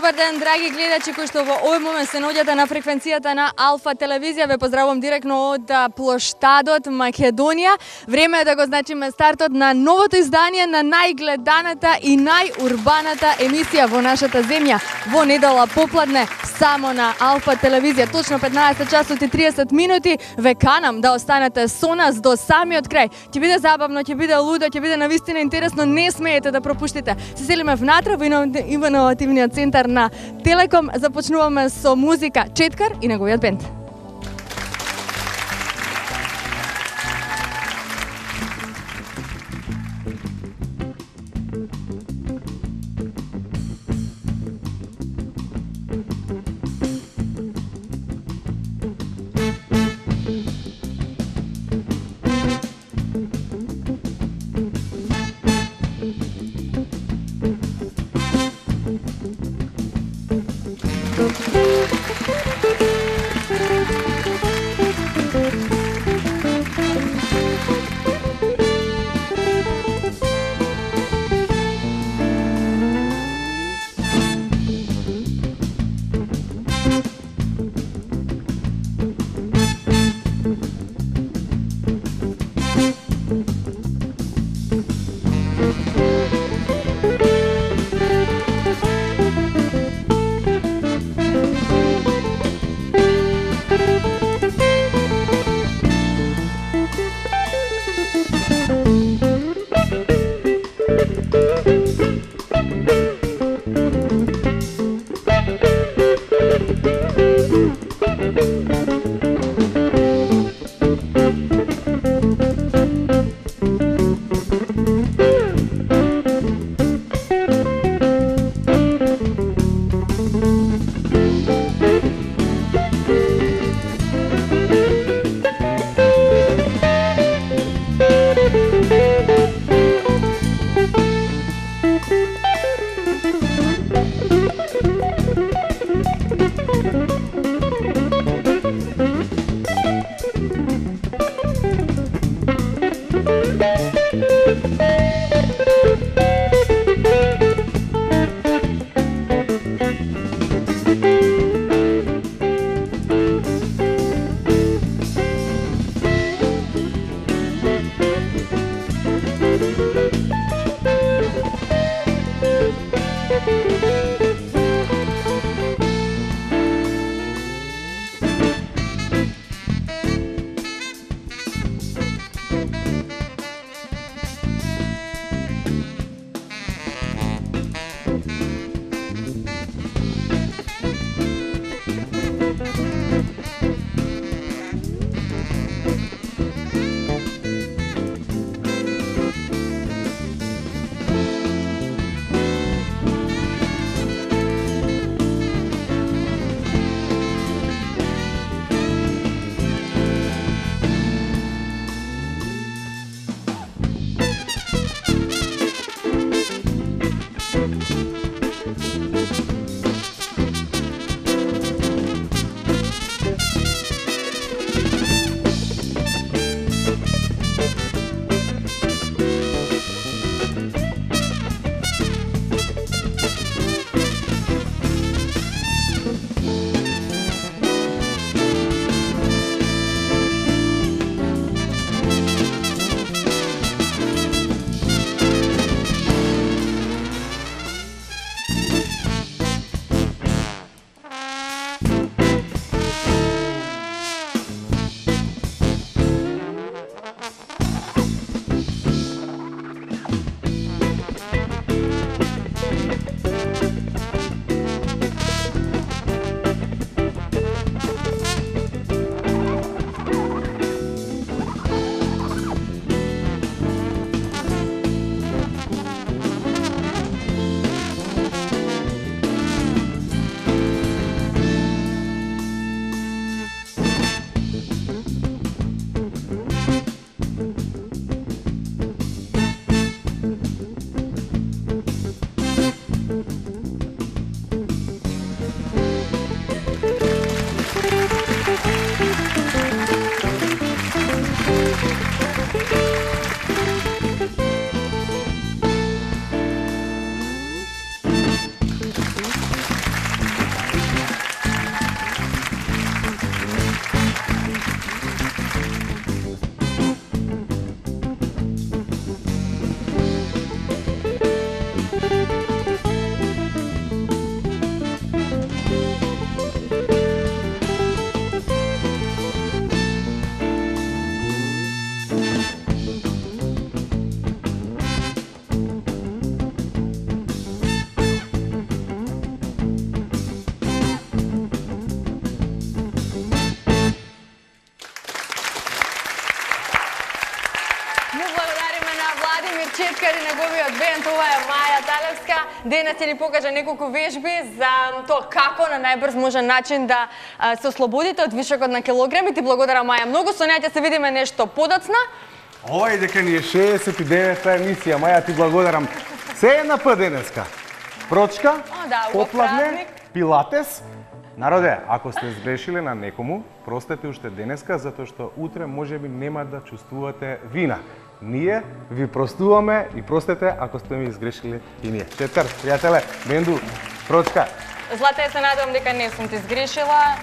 Добар ден, драги гледачи кои што во овој момент се наоѓате на фреквенцијата на Алфа телевизија. Ве поздравувам директно од плоштадот Македонија. Време е да го значиме стартот на новото издание на најгледаната и најурбаната емисија во нашата земја. Во недела попладне само на Алфа телевизија. Точно 15 часот и 30 минути. Ве канам да останете со нас до самиот крај. Ќе биде забавно, ќе биде лудо, ќе биде навистина интересно. Не смеете да пропуштите. Се селиме внатре во иновативниот центар на Телеком. Започнуваме со музика Четкар и неговиот бенд. неговиот бенд, ова е Маја Талевска. Денес ќе ни покажа неколку вежби за тоа како на најбрз можен начин да се ослободите од вишокот на килограми. Ти благодарам, Маја, многу. Со неја ќе се видиме нешто подоцна. Ова и дека ни е 69-та емисија, Маја, ти благодарам. Се една път денеска. Прочка, поплавне, пилатес. Народе, ако сте сгрешиле на некому, простете уште денеска, затоа што утре можеби нема да чувствувате вина. Ние ви простуваме и простете ако сте ми изгрешили и ние. Четкар, пријателе, бенду, прочка. Злата, се надевам дека не сум ти сгрешила.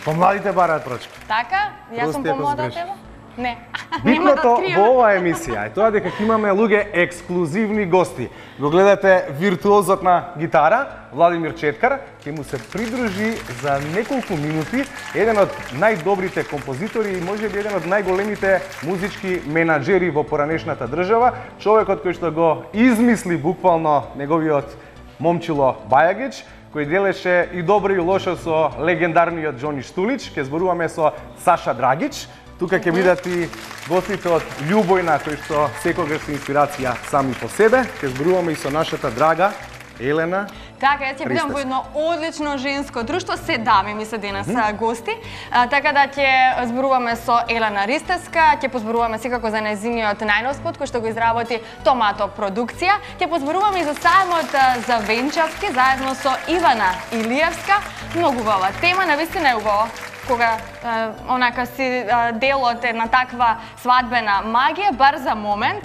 Помладите бараат прочка. Така? Јас сум помлада од тебе? Не. Битното во оваа емисија е тоа дека имаме луѓе ексклузивни гости. Го гледате виртуозот на гитара, Владимир Четкар, ќе му се придружи за неколку минути еден од најдобрите композитори и можеби еден од најголемите музички менаџери во поранешната држава, човекот кој што го измисли буквално неговиот момчило Бајагич, кој делеше и добро и лошо со легендарниот Џони Штулич. Ќе зборуваме со Саша Драгич. Тука ќе бидат и гостите од Љубојна, кои што секогаш се инспирација сами по себе. Ќе зборуваме и со нашата драга Елена. Така, јас ќе бидам во едно одлично женско друштво, се дами ми се денес гости. Така да ќе зборуваме со Елена Ристевска, ќе позборуваме секако за нејзиниот најнов спот кој што го изработи Томато продукција. Ќе позборуваме и за сајмот за Венчавски заедно со Ивана Илиевска. Многу убава тема, навистина е убава кога онака си делот една таква свадбена магија, бар за момент.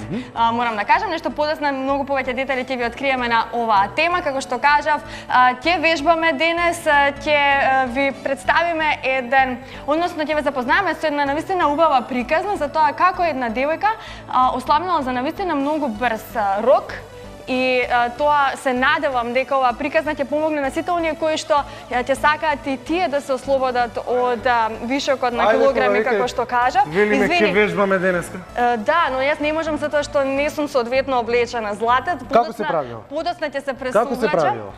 Морам да кажам нешто подоцна, многу повеќе детали ќе ви откриеме на оваа тема. Како што кажав, ќе вежбаме денес, ќе ви представиме односно ќе ве запознаеме со една навистина убава приказна за тоа како една девојка ослабнала за навистина многу брз рок. И тоа се надевам дека оваа приказна ќе помогне на сите оние кои што ќе сакаат и тие да се ослободат од вишокот на килограми, како што кажав. Велиме ќе вежбаме денеска. Да, но јас не можам затоа што не сум соодветно облечена. Злата, како се правило? Подоцна ќе се пресувачам. Како се правило?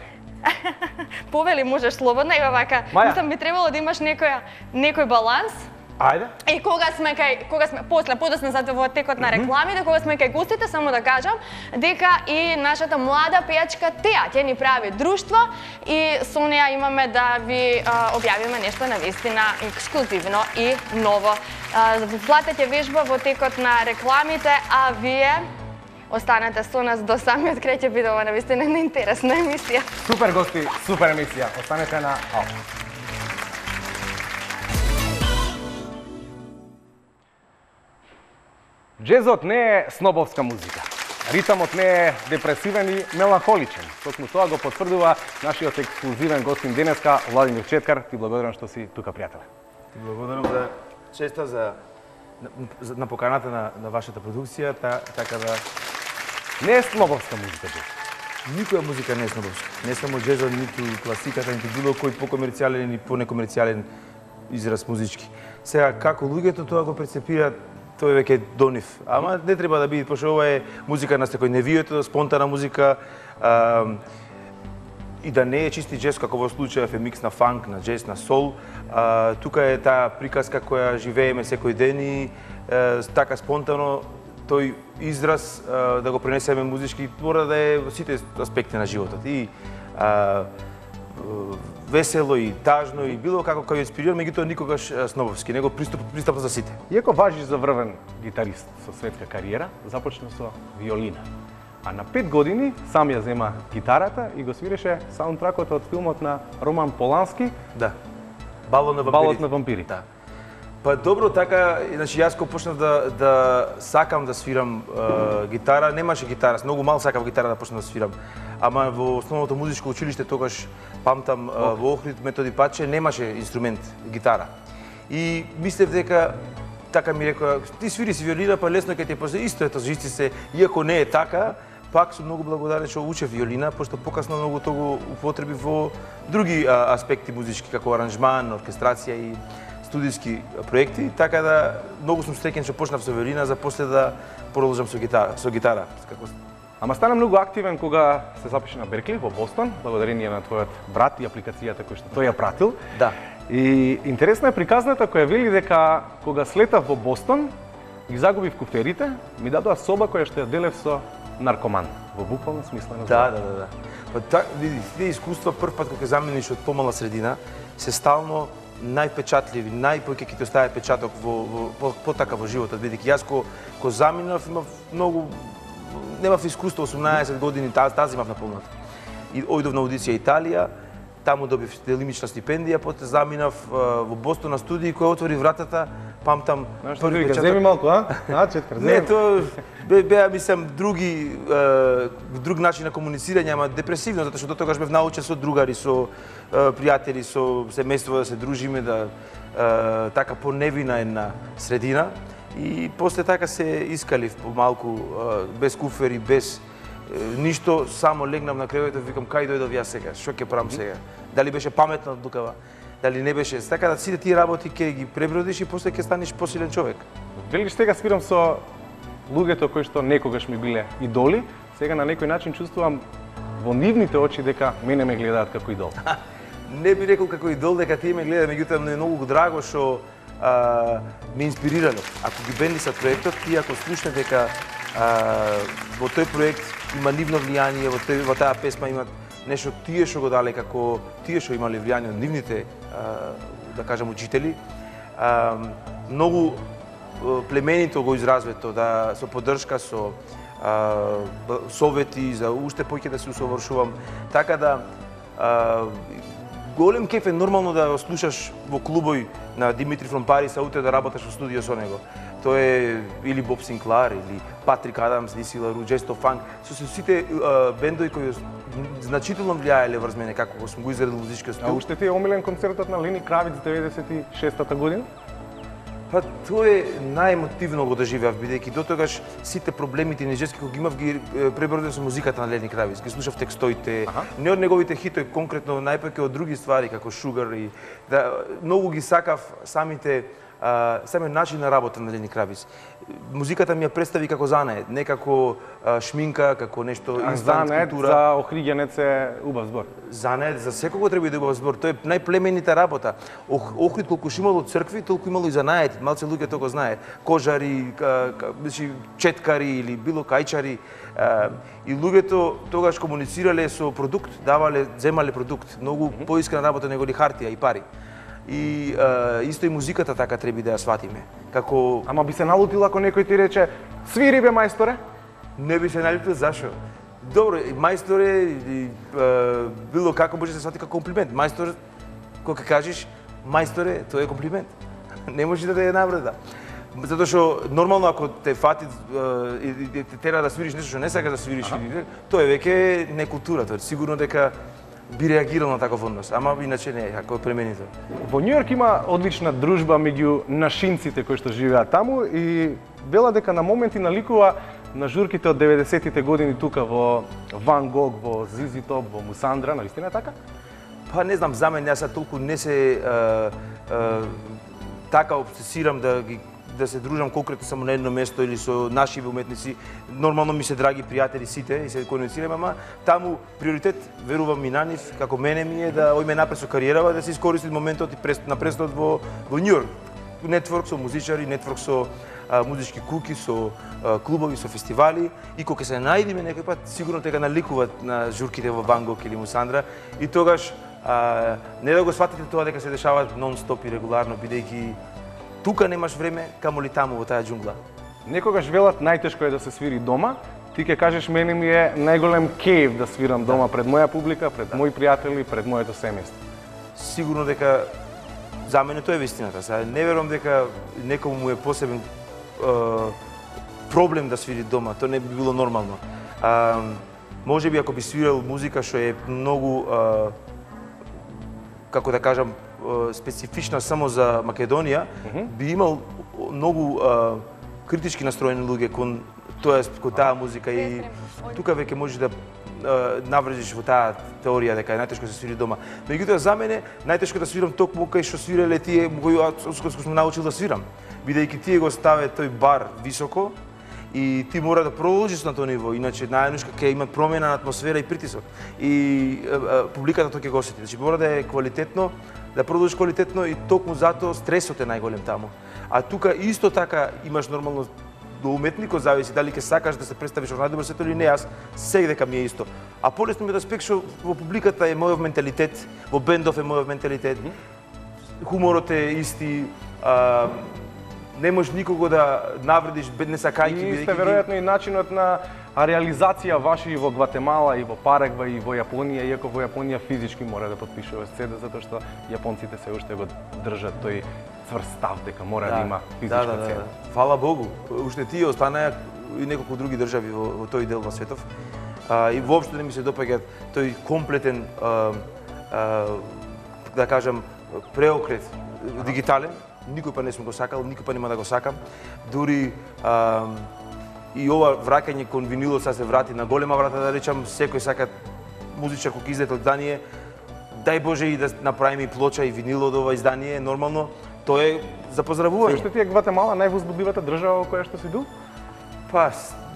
Повели можеш слободно и вака. Мислам би требало да имаш некој баланс. Ајде. И кога сме подоцна за во текот на рекламите, кога сме кај гостите, само да кажам дека и нашата млада пејачка Теа ќе ни прави друштво и со неја имаме да ви објавиме нешто навистина ексклузивно и ново. Злата ќе вежба во текот на рекламите, а вие останете со нас до самиот крај, ќе биде ова навистина интересна емисија. Супер гости, супер емисија. Останете на Алфа. Джезот не е снобовска музика. Ритамот не е депресивен и меланхоличен. Токму тоа го потврдува нашиот ексклузивен гостин денеска, Владимир Четкар. Ти благодарам што си тука, пријателе. Ти благодарам за честа на поканата на вашата продукција, така да не е снобовска музика, джез. Никоја музика не е снобовска. Не само джезот, ниту класиката, ниту било кој покомерцијален или понекомерцијален израз музички. Сега како луѓето тоа го прецепираат, тој веќе е до нив. Ама не треба да биде, пошто ова е музика на секојдневието, спонтана музика, и да не е чисти джез, како во случајов е микс на фанк, на джез, на сол. Тука е таа приказка која живееме секој ден и така спонтано тој израз да го пренесеме музички, мора да е во сите аспекти на животот. И весело и тажно и било како кај инспириран, меѓутоа никогаш снобовски, него пристапно за сите. Иако важиш за врвен гитарист со светска кариера, започна со виолина. А на 5 години сам ја зема гитарата и го свиреше саундтракот од филмот на Роман Полански. Да. Балот на вампирите. Да. Па добро, така, значи јас кога почнав да сакам да свирам гитара, немаше гитара, многу мал сакав гитара да почнам да свирам. Ама во основното музичко училиште тогаш памтам во Охрид Методи Паче немаше инструмент гитара. И мислев дека така ми рекоа, ти свири си виолина, па лесно ќе ти после исто ето жици се, иако не е така, пак сум многу благодарен што учев виолина, пошто покасно многу того употреби во други аспекти музички, како аранжман, оркестрација и студиски проекти, така да многу сум среќен што почнав со виолина, за после да продолжам со гитара. Ама стана многу активен кога се запиша на Беркли во Бостон, благодарение на твојот брат и апликацијата која што тој ја пратил. Да. И интересна е приказната која вели дека кога слетав во Бостон, ги загубив куферите, ми дадоа соба која што ја делев со наркоман во буквален смисла на Да. Па види, тие искуства прв пат кога ќе замениш од помала средина се стално најпечатливи, најпоќе ќе ти остави печаток во така во животот, бидејќи јас ко заминав имав многу немав искуство 18 години, тази имав наполната. И ојдов на аудиција Италија, таму добив делимична стипендија, после заминав во Бостон на студии кој отвори вратата, памтам први печаток. Земи малку, Четкар, земи. Не, тоа беа мислам друг начин на комуницирање, ама депресивно, затоа што дотогаш бев научен со другари, со пријатели, со семејство да се дружиме, да така поневина една средина. И после така се искалив помалку, без куфери, без ништо, само легнав на креветот, викам кај дојдов јас сега, што ќе правам сега? Дали беше паметна одлукава, дали не беше? Така да сите тие работи ќе ги пребродиш и после ќе станеш посилен човек. Велиш сега свирам со луѓето кои што некогаш ми биле идоли, сега на некој начин чувствувам во нивните очи дека мене ме гледаат како идол. Не би рекол како идол дека тие ме гледаат, меѓутоа ми е многу драго што ме инспирирале. Ако ги бендисат проектот, тие ако слушнат дека во тој проект има нивно влијание, во таа песма имат нешто тие што го дале, како тие што имале влијание од нивните, да кажам, учители. Многу племенито го изразвето, да со поддршка, со совети за уште поќе да се усовршувам. Така да голем кеф е нормално да го слушаш во клубој на Димитри from Paris, а утре да работаш во студио со него. Тоа е или Боб Синклар, или Патрик Адамс, Диси Лару, Джесто Фанк, со сите бендови кои значително влијаеле врз мене како сум го изградил музички стил. А уште ти е омилен концертот на Лени Кравиц 96-та година? Па тоа е најемотивно го доживеав, бидејќи дотогаш сите проблемите и неџески кои ги имав ги пребродив со музиката на Лени Кравиц. Ги слушав текстоите, не од неговите хитови, конкретно најпаќе од други ствари како Sugar и многу ги сакав самиот начин на работа на Лени Кравиц. Музиката ми ја представи како занает, не како шминка, како нешто инстант култура. За Охридјанец е убав збор. Занает за секого треба да убав збор. Тоа е најплеменита работа. Охрид колку имало цркви, толку имало и занаети. Малце луѓе тоа го знае. Кожари, четкари или било кајчари. И луѓето тогаш комуницирале со продукт, земале продукт. Многу поискрена работа него ли хартија и пари. И исто и музиката така треба да ја сватиме. Како Ама би се налутил ако некој ти рече свири бе мајсторе? Не би се налутил, зашо? Добро, мајсторе било како може да се свати како комплимент. Мајстор, кога кажеш мајсторе, тоа е комплимент. Не може да те навреда. Затоа што нормално ако те фати и те тера да свириш нешто што не сакаш да свириш, тоа е веќе не култура, тоа е сигурно дека би реагирал на таков однос, ама иначе не, ако е племенито. Во Њу Јорк има одлична дружба меѓу нашинците кои што живеат таму и вела дека на моменти наликува на журките од 90-тите години тука во Ван Гог, во ZZ Top, во Мусандра, навистина е така? Па не знам, за мен јас толку не се така обсесирам да се дружам конкретно само на едно место или со наши уметници. Нормално ми се драги пријатели сите и се комуницираме, ама таму приоритет, верувам и на нив, како мене ми е да ојме напред со кариерава, да се искористи моментот и на престот во Њу Јорк. Нетворк со музичари, нетворк со музички куки, со клубови, со фестивали и кога се најдеме некој пат, сигурно дека наликуваат на журките во Ван Гог или Мусандра и тогаш не да го сватите тоа дека се дешава нон-стоп и регуларно, бидејќи тука немаш време, камоли таму во таа џунгла. Некогаш велат најтешко е да се свири дома. Ти ќе кажеш мене ми е најголем кејф да свирам дома пред моја публика, пред мои пријатели, пред моето семејство. Сигурно дека за мене тоа е вистината. Сега не верувам дека некому му е посебен проблем да свири дома. Тоа не би било нормално. Можеби ако би свирал музика што е многу како да кажам специфична само за Македонија, би имал многу критички настроени луѓе кон таа музика и тука веќе може да наврежиш во таа теорија дека е најтешко да се свири дома. Меѓутоа за мене најтешко да свирам токму кај што свиреле тие кои сум научил да свирам, бидејќи тие го ставе тој бар високо и ти мора да продолжиш на тоа ниво, иначе најнушка ќе има промена на атмосфера и притисок. И публиката тоа ќе го осети. Значи мора да е квалитетно, да продолжиш квалитетно и токму затоа стресот е најголем таму. А тука исто така имаш нормално до уметникот зависи дали ќе сакаш да се представиш во најдобар свет или не, јас сега дека ми е исто. А полесно ми да спек што во публиката е мојов менталитет, во бендов е мојов менталитет, хуморот е исти, не можеш никого да навредиш не сакајќи. И сте веројатно и начинот на реализација ваши и во Гватемала, и во Парагвај, и во Јапонија, иако во Јапонија физички мора да подпишува седа, затоа што јапонците се уште го држат тој цврст став дека мора да има физичка цена. Фала Богу, уште тие останаа и неколку други држави во тој дел на светов. И воопшто не ми се допаѓа тој комплетен, да кажам, преокрет дигитален. Никој па не сум го сакал, никој па нема да го сакам. Дури и ова враќање кон винилот се врати на голема врата, да речам, секој сака музичар кој издаде издание, дај Боже и да направиме и плоча и винил од ова издание, нормално, тоа е за поздравување. Што ти е Гватемала највозбудливата држава во која што си бил? Па,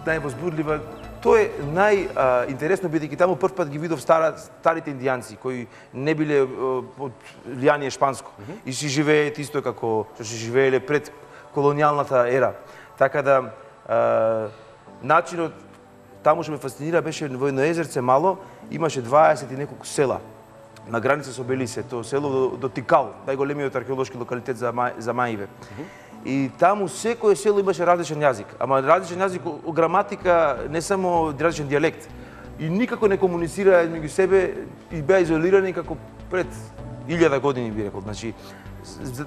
највозбудлива, тоа е најинтересно бидејќи таму прв пат ги видов старите индијанци кои не биле од влијание шпанско и си живеат исто како што си живееле пред колонијалната ера. Така да начинот таму што ме фасцинира беше во едно езерце мало, имаше 20 и неколку села на граница со Белисе, тоа село до Тикал, најголемиот археолошки локалитет за Маиве. И таму секое село имаше различен јазик, ама различен јазик, граматика, не само различен дијалект. И никако не комуницира меѓу себе и беа изолирани како пред 1000 години, би рекол. Значи,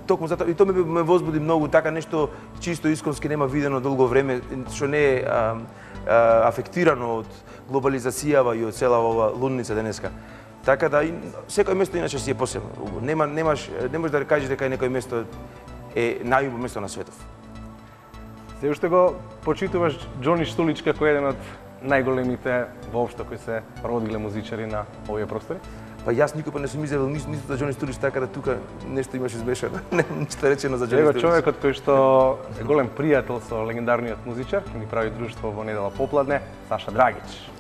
токму затоа и тоа ме возбуди многу, така нешто чисто исконски нема видено долго време, што не е афектирано од глобализацијава и од цела ова лунница денеска. Така да секој место иначе си е посебно. Не можеш да кажеш дека некој место е најубаво место на светов. Се уште го почитуваш Џони Штулич како еден од најголемите воопшто кои се родиле музичари на овие простори? Па јас никој не сум изјавил ништо за Џони Штулич, така да тука нешто имаш измешано. Ништо речено за Џони Штулич. Него човекот кој што е голем пријател со легендарниот музичар, ќе ни прави друштво во недела попладне, Саша Драгич.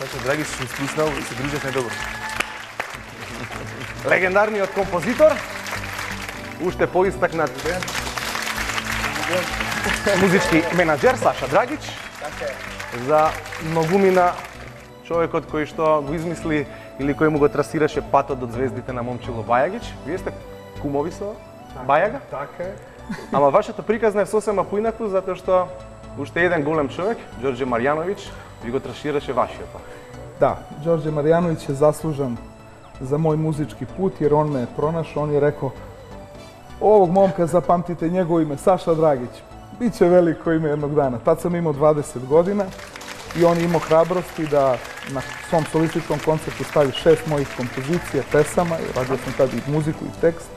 Саша Драгич сум слушнал и се дружевме добро. Легендарниот композитор, уште поистакнат музички менаџер Саша Драгич, за многумина човекот кој што го измисли или кој му го трасираше патот до звездите на Момчило Бајагич. Вие сте кумови со Бајага? Така е. Ама вашата приказна е сосема поинаку, затоа што уште еден голем човек, Ѓорѓе Марјановиќ, ви го трасираше вашиот пат. Да, Ѓорѓе Марјановиќ е заслужен за мој музички пут, jer on me je pronašao, on je rekao ovog momka zapamtite njegovo ime, Saša Dragić, bit će veliko ime jednog dana. Tad sam imao 20 godina i on je imao hrabrosti da na svom solističkom koncertu stavi 6 mojih kompozicija, pesama, radio sam tad i muziku i tekst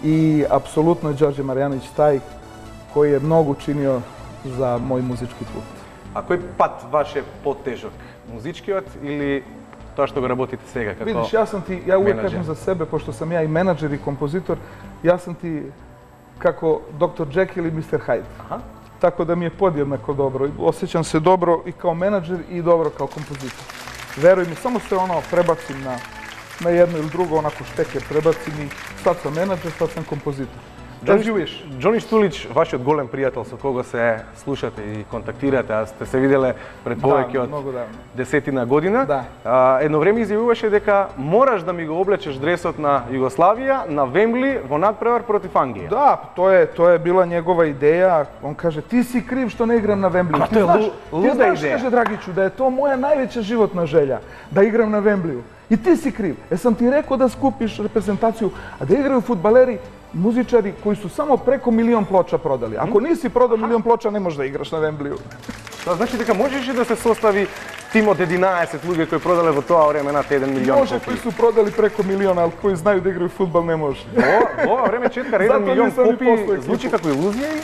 i apsolutno je Ѓorđe Marjanović taj koji je mnogo učinio za moj muzički put. А кој пат ваш е потежок? Музичкиот или тоа што го работите сега како Vidiš, ja uvijek kažem za sebe, pošto sam ja i menadžer i kompozitor, ja sam ti kako Dr. Jekyll i Mr. Hyde. Aha. Tako da mi je podjednako dobro. Osjećam se dobro i kao menadžer i dobro kao kompozitor. Veruj mi, samo se prebacim na jedno ili drugo, onako šteke prebacim i sad sam menadžer, sad sam kompozitor. Да живееш. Џони Штулич, вашиот голем пријател со кого се слушате и контактирате, а сте се виделе пред повеќе од десетина година. Да. Едно време изјавуваше дека мораш да ми го облечеш дресот на Југославија на Вембли во надпревар против Англија. Да, to je bila njegova ideja. On kaže, ti si kriv što ne igram na Wembliju. Ti znaš, kaže Dragiću, da je to moja najveća životna želja, da igram na Wembliju. I ti si kriv. Sam ti rekao da skupiš reprezentaciju, a da igraju fudbaleri, muzičari koji su samo preko 1 milion ploča prodali. Ako nisi prodao 1 milion ploča, ne možeš da igraš na Wembliju. Тоа значи дека можеше да се состави тим од 11 луѓе кои продале во тоа време над 1 милион. Може, кои su prodali preko 1 milion, ali koji znaju da igraju fudbal, ne može. Во ова време Четкар 1 милион копии звучи како илузија и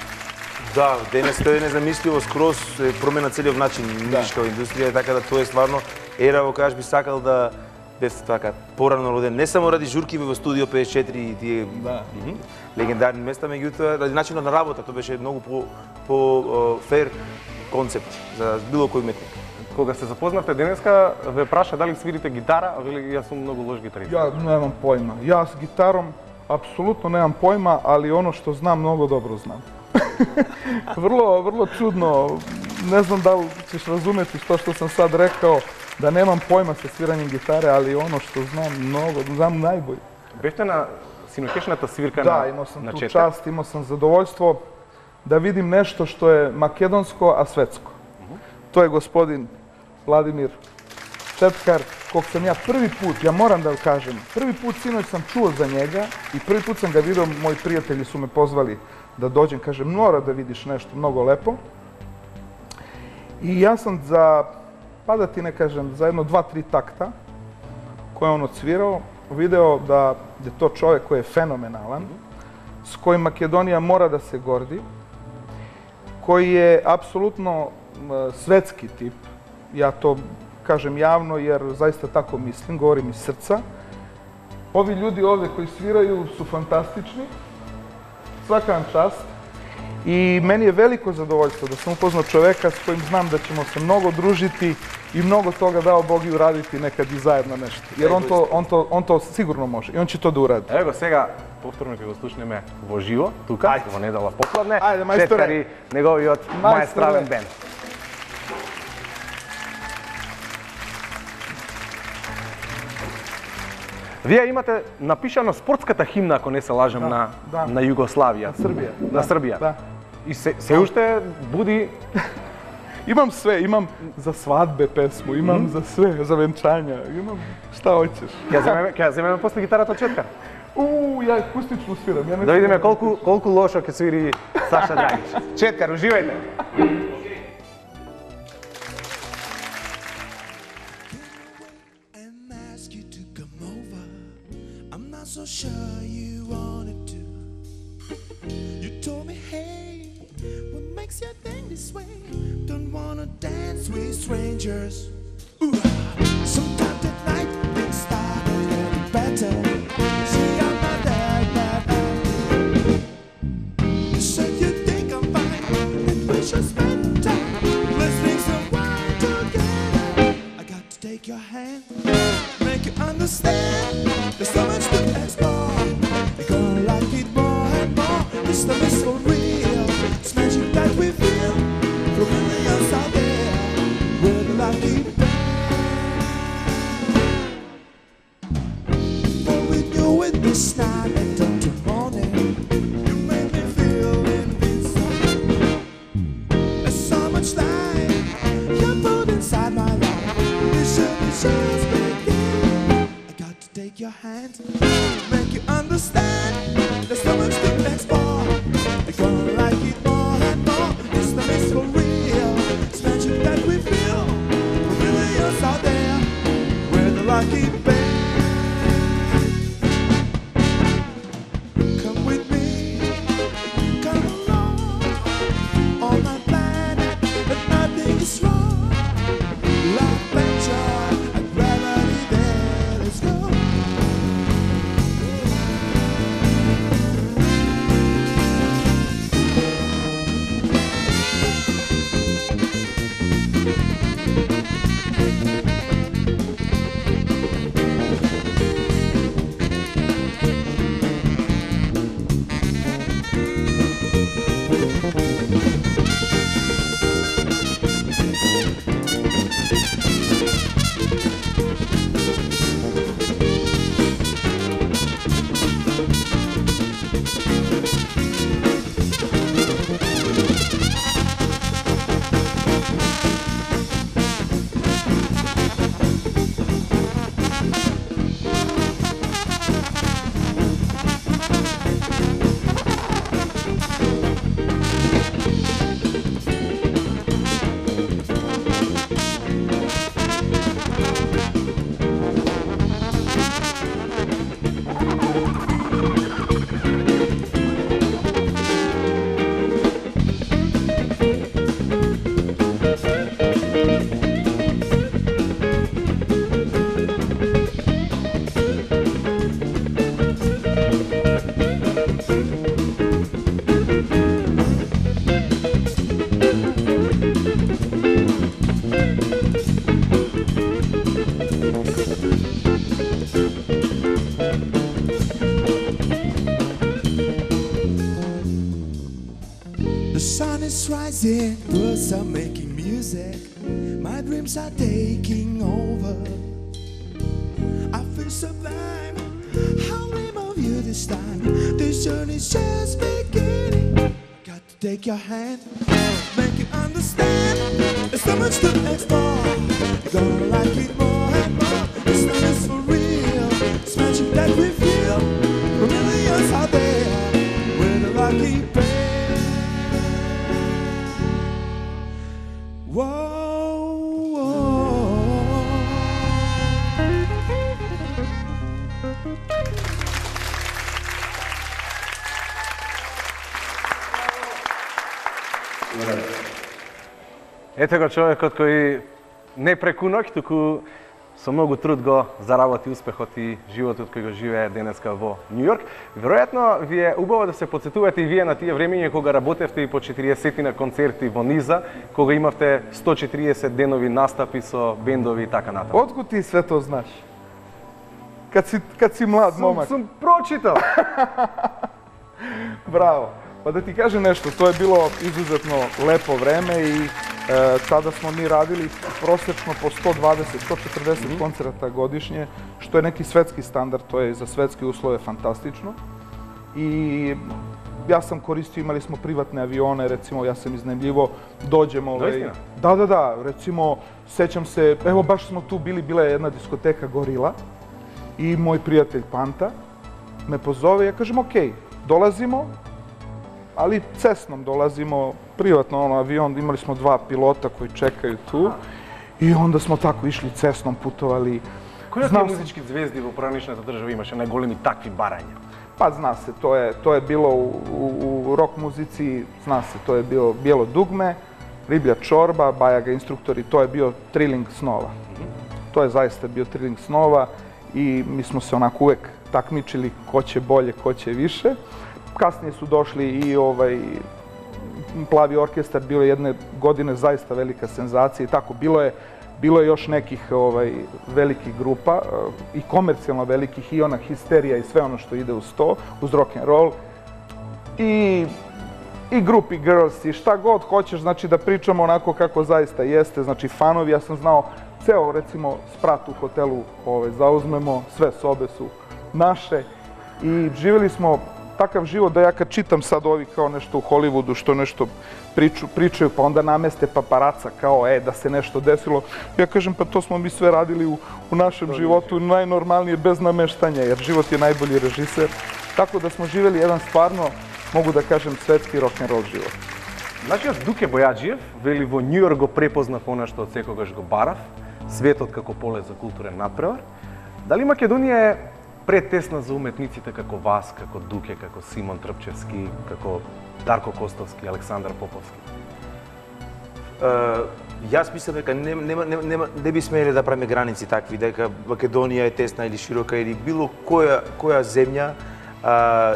Да, денес тоа е незамисливо, скроз промена целиот начин музичка индустрија, така да тоа е стварно ера во која би сакал да бев така порано роден, не само ради журкиве во студио 54 и тие легендарни места, меѓутоа ради начинот на работа, тоа беше многу по фер концепт за било кој уметник. Кога се запознавте денеска, ве праша дали свирите гитара, а вели јас сум многу лош гитарист. Ja nemam pojma. Ja s gitarom apsolutno nemam pojma, ali ono što znam, mnogo dobro znam. vrlo čudno. Ne znam da li ćeš razumeti što sam sad rekao, da nemam pojma sa sviranjem gitare, ali ono što znam najbolje. Бевте на синокешната свирка Da, на imao sam tu четврт? čast, imao sam zadovoljstvo da vidim nešto što je makedonsko, a svetsko. To je gospodin Vladimir Četkar, kog sam ja prvi put, ja moram da kažem, prvi put sinoć sam čuo za njega i prvi put sam ga vidio, moji prijatelji su me pozvali da dođem, kažem, mora da vidiš nešto mnogo lepo. I ja sam pa da ti ne kažem, za jedno 2-3 takta koje on odsvirao, video da je to čovjek koji je fenomenalan, s kojim Makedonija mora da se gordi, koji je apsolutno svetski tip. Ja to kažem javno jer zaista tako mislim, govorim iz srca. Ovi ljudi ovdje koji sviraju su fantastični, svaka vam čast. I meni je veliko zadovoljstvo da sam upoznao čoveka s kojim znam da ćemo se mnogo družiti i mnogo toga dao Bog i uraditi nekad i zajedno nešto. Jer on to sigurno može i on će to da uradi. Ево го сега повторно ќе го слушнеме во живо, тука, во недела попладне. Ајде, мајсторе. Четкар и неговиот маестрален бенд. Вие имате напишано спортската химна, ако не се лажам, на Југославија. На Србија. На Србија. Да. И се уште буди... Imam sve, imam za svadbe pesmu, imam za sve, za venčanja, imam šta hoćeš. Ќе земеме после гитарата од Четкар. Ja akustično sviram. Да видиме колку лошо ќе свири Саша Драгич. Четкар, уживајте. So sure you wanted to. You told me, hey, what makes you think this way? Don't wanna dance with strangers. Ooh, sometimes at night things start getting better. See, I'm not that bad. You said you think I'm fine, and we should spend time. Let's drink some wine together. I got to take your hand, make you understand. There's so much to explore. You're gonna like it more and more. This love is so real. It's magic that we feel from millions out there. We're the lucky band. Before we knew it, this night and until morning, you made me feel invincible. There's so much life you put inside my life. This should be just begin. I got to take your hand, make you understand. There's so much to explore. You're gonna like it more and more. This love is for real. It's magic that we feel from millions out there. We're the lucky band. Come with me, come along. On my planet, but nothing is wrong. Love and joy and gravity there. Let's go. The sun is rising, birds are making music. My dreams are taking over. I feel sublime. I'll dream of you this time. This journey's just beginning. Got to take your hand, make you understand. There's so much to explore. You're gonna like it more and more. This love is for real. It's magic that we feel. For millions out there, we're the lucky pair. Whoa. Ете го човекот кој не преку ноќ, туку со многу труд го заработи успехот и животот кој го живее денеска во Њу Јорк. Веројатно ви е убаво да се потсетувате и вие на тие времења кога работевте и по 40 на концерти во низа, кога имавте 140 денови настапи со бендови и така натаму. Откуд ти све то знаш? Kad si mlad momak. Сум прочитал. Bravo. Pa da ti kažem nešto, to je bilo izuzetno lepo vreme i tada smo mi radili prosečno po 120-140 koncerata godišnje, što je neki svetski standard, to je za svetske uslove fantastično. I ja sam koristio, imali smo privatne avione, recimo ja sam iznajmljivo, dođemo... Da, recimo, sećam se, evo baš smo tu bili, bila je jedna diskoteka Gorila i moj prijatelj Panta me pozove, ja kažem okej, dolazimo, ali cesnom dolazimo, privatno avion, imali smo 2 pilota koji čekaju tu i onda smo tako išli cesnom, putovali. Кои од тие музички звезди во поранишната држава имаше најголеми такви барања? Pa zna se, to je bilo u rock muzici, zna se, to je bilo Bijelo dugme, Riblja čorba, Bajaga instruktori, to je bio Triling snova. To je zaista bio Triling snova i mi smo se onako uvek takmičili ko će bolje, ko će više. Kasnije su došli i Plavi orkestar, bilo je jedne godine zaista velika senzacija i tako, bilo je još nekih velikih grupa i komercijalno velikih i ona histerija i sve ono što ide uz to, uz rock and roll i grupi girls i šta god hoćeš, znači da pričamo onako kako zaista jeste, znači fanovi, ja sam znao ceo recimo sprat u hotelu zauzmemo, sve sobe su naše i živjeli smo takav život da ja kad čitam sad ovi kao nešto u Hollywoodu što nešto pričaju pa onda nameste paparaca kao da se nešto desilo. Ja kažem pa to smo mi sve radili u našem životu najnormalnije bez nameštanja jer život je najbolji režiser. Tako da smo živjeli jedan stvarno, mogu da kažem, svetski rock'n'roll život. Нашиот Дуке Бојаджиев вели во Њу Јорк го препознав она што од секогаш го барав, светот како поле за културен натпревар. Дали Македонија е претесна за уметниците како вас, како Дуке, како Симон Трпчевски, како Дарко Костовски, Александар Поповски? Јас мислам дека не би смеле да правиме граници такви, дека Македонија е тесна или широка или било која земја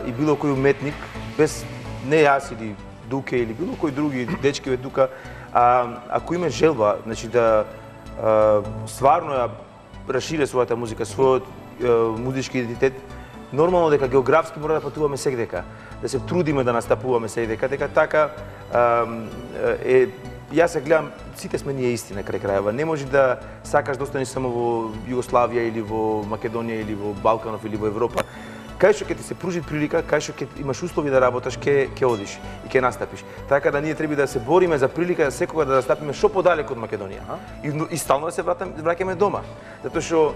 и било кој уметник, без не јас или Дуке или било кој други дечки од тука, ако има желба, значи да стварно ја расшири својата музика, својот музички идентитет, нормално дека географски мора да патуваме секдека, да се трудиме да настапуваме секдека, дека така јас се гледам, сите сме ние исти на крај крајава. Не може да сакаш да останеш само во Југославија или во Македонија или во Балканов или во Европа. Кај што ќе ти се пружи прилика, кај што ќе имаш услови да работаш, ќе одиш и ќе настапиш. Така да ние треба да се бориме за прилика секогаш да настапиме што подалеку од Македонија и стално да се враќаме дома. Затоа што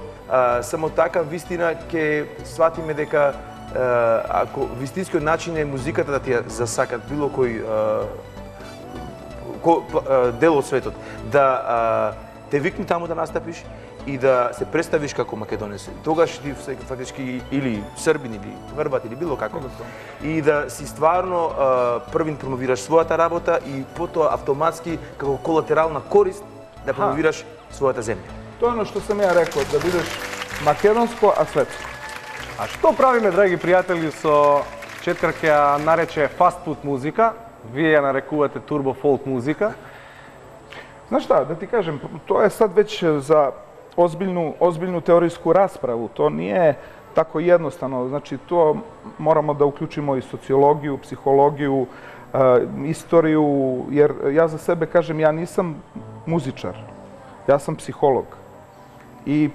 само така вистина ќе сватиме дека ако вистинскиот начин е музиката да ти ја засакат било кој дел од светот, да те викне таму да настапиш и да се представиш како македонец. Тогаш ти фактички или србин или хрват или било како. И да си стварно првин промовираш својата работа и потоа автоматски како колатерална корист да промовираш својата земја. Тоа е оно што сам ја рекол, да бидеш македонско, а светско. А што правиме, драги пријатели, со Четкар ќе ја нарече фастфуд музика, вие ја нарекувате турбо фолк музика? Знаеш šta, да ти кажем, тоа е сад веќе за ozbiljnu teorijsku raspravu. To nije tako jednostavno. Znači, to moramo da uključimo i sociologiju, psihologiju, istoriju, jer ja za sebe kažem, ja nisam muzičar, ja sam psiholog. I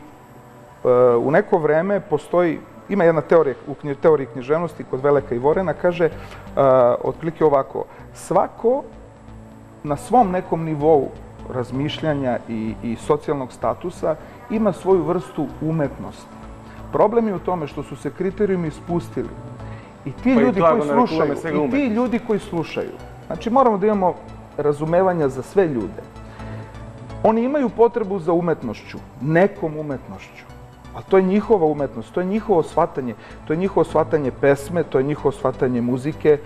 u neko vreme postoji, ima jedna teorija u teoriji književnosti kod Veleka Ivorena, kaže otprilike ovako, svako na svom nekom nivou razmišljanja i socijalnog statusa ima svoju vrstu umetnosti. Problem je u tome što su se kriterijumi spustili. I ti ljudi koji slušaju, znači moramo da imamo razumevanja za sve ljude. Oni imaju potrebu za umetnošću, nekom umetnošću. Ali to je njihova umetnost, to je njihovo shvatanje. To je njihovo shvatanje pesme, to je njihovo shvatanje muzike.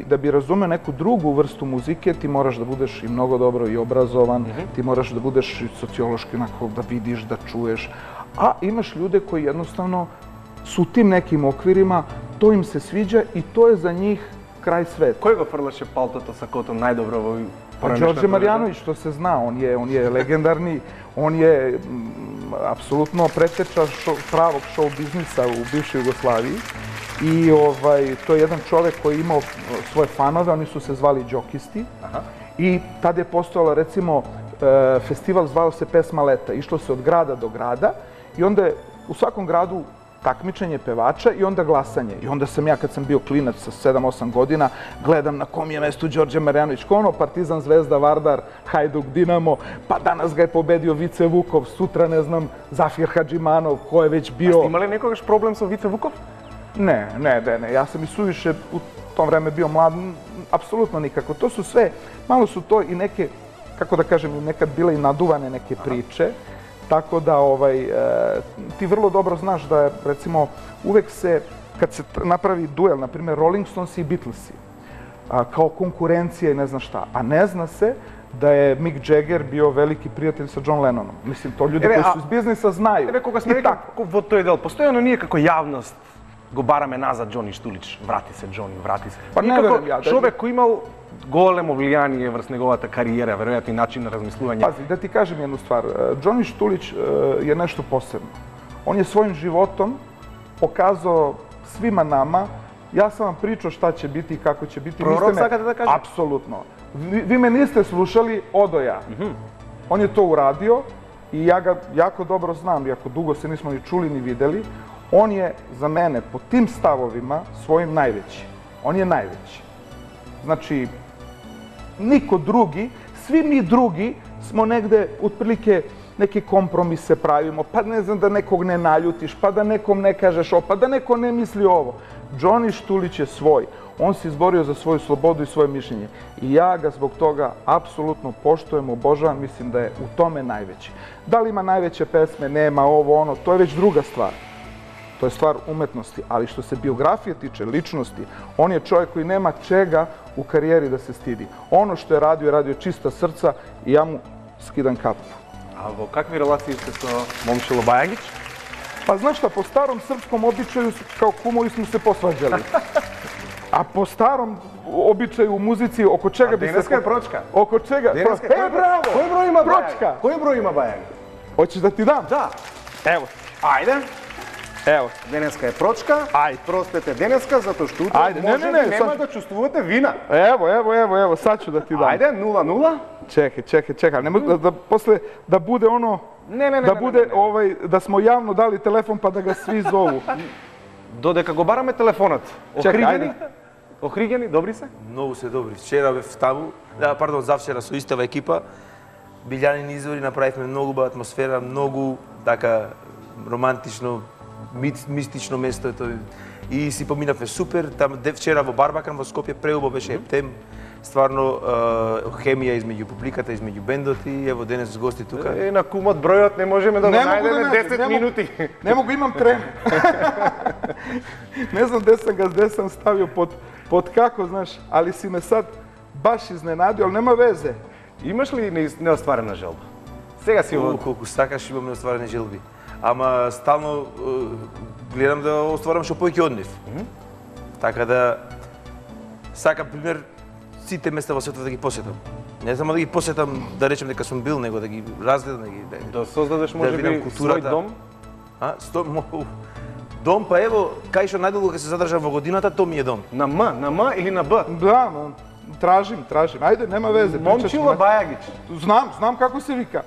Da bi razumeo neku drugu vrstu muzike, ti moraš da budeš i mnogo dobro i obrazovan, ti moraš da budeš sociološki onako, da vidiš, da čuješ. A imaš ljude koji jednostavno su u tim nekim okvirima, to im se sviđa i to je za njih kraj sveta. Кој го фрлаше палтото сакото најдобро во Đorđe Marjanović, to se zna, on je legendarni, on je apsolutno preteča pravog show biznisa u bivšoj Jugoslaviji. I to je jedan čovek koji je imao svoje fanove, oni su se zvali džokisti. I tada je postojala, recimo, festival zvao se Pesma leta. Išlo se od grada do grada i onda je u svakom gradu takmičenje pevača i onda glasanje. I onda sam ja, kad sam bio klinac sa 7-8 godina, gledam na kom je mestu Đorđe Marjanović. Ko ono, Partizan, Zvezda, Vardar, Hajduk, Dinamo, pa danas ga je pobedio Vice Vukov, sutra, ne znam, Zafir Hadžimanov, ko je već bio... A ste imali nekogaš problem sa Vice Vukov? Ne. Ja sam i suviše u tom vreme bio mlad, apsolutno nikako. To su sve, malo su to i neke, kako da kažem, nekad bile i naduvane neke priče. Tako da ti vrlo dobro znaš da, recimo, uvek se, kad se napravi duel, na primjer Rolling Stones i Beatlesi, kao konkurencija i ne znam šta, a ne zna se da je Mick Jagger bio veliki prijatelj sa John Lennonom. Mislim, to ljudi koji su iz biznisa znaju. Кога сме рекли во тој дел, постојано ние како јавност го бараме назад Џони Штулич. Врати се, Џони, врати се. Па не верувам ја. Човек кој имал големо влијание врз неговата кариера, веројатно и начин на размислување. Пази, да ти кажем jednu stvar. Џони Штулич je nešto posebno. On je svojim životom pokazao svima nama, ja sam vam pričao šta će biti i kako će biti. Prorok sakate da kažem? Apsolutno. Vi me niste slušali, odo ja. On je to uradio i ja ga jako dobro znam, iako dugo se nismo ni čuli ni videli. On je za mene po tim stavovima svojim najveći. On je najveći. Znači, niko drugi, svi mi drugi smo negde otprilike neke kompromise pravimo, pa ne znam da nekog ne naljutiš, pa da nekom ne kažeš ovo, pa da neko ne misli ovo. Đoni Štulić je svoj. On se izborio za svoju slobodu i svoje mišljenje. I ja ga zbog toga apsolutno poštujem, obožavam, mislim da je u tome najveći. Da li ima najveće pesme, nema ovo, ono, to je već druga stvar. To je stvar umetnosti, ali što se biografije tiče, ličnosti, on je čovjek koji nema čega u karijeri da se stidi. Ono što je radio čista srca i ja mu skidam kapu. A во какви релации сте со Момчило Бајагиć? Pa znaš šta, po starom srpskom običaju kao kumovi smo se posvađali. A po starom običaju u muzici, oko čega bi se... Денеска е прочка. Oko čega? Браво! Кој број има Прочка. Кој број има Бајаги? Hoćeš da ti dam? Да. Evo, Ајде. evo. Денеска е прочка. Ајде. Простете денеска, затоа што утре Ајде, може не, нема сад- да чувствувате вина. Evo, sad ću da ti dam. Ајде, 0-0. Čekaj, ne može da posle da bude ono... Не. Da bude, da smo javno dali telefon pa da ga svi zovu. Додека го бараме телефонот. Чекај, Охригени? Охригени, добри се? Многу се добри. Вчера бев таму, завчера со истава екипа, Билјанин извори, направивме многу убава атмосфера, многу така романтично, мистично место е тоа. И си поминавме супер, там вчера во Барбакан во Скопје преубаво беше ептем. Стварно хемија измеѓу публиката, измеѓу бендот и ево денес с гости тука. На кумот бројот не можеме да го најдеме 10 минути. Ne mogu, imam tremu. Ne znam gde sam stavio pod kako, znaš, ali si me sad baš iznenadio, ali nema veze. Имаш ли неостварена желба? Сега си во... Колку сакаш имам неостварени желби. Ама стално гледам да остварам што повеќе од нив. Така да сакам пример сите места во светот да ги посетам. Не само да ги посетам, да речем дека сум бил, него да ги разгледам, Да создадеш да можеби видам свој дом? Дом, па ево, кај што најдолго ќе се задржам во годината, то ми е дом. На М или на Б? Da, Тражим. Ајде, нема везе. Момчило Бајагич. Знам како се вика.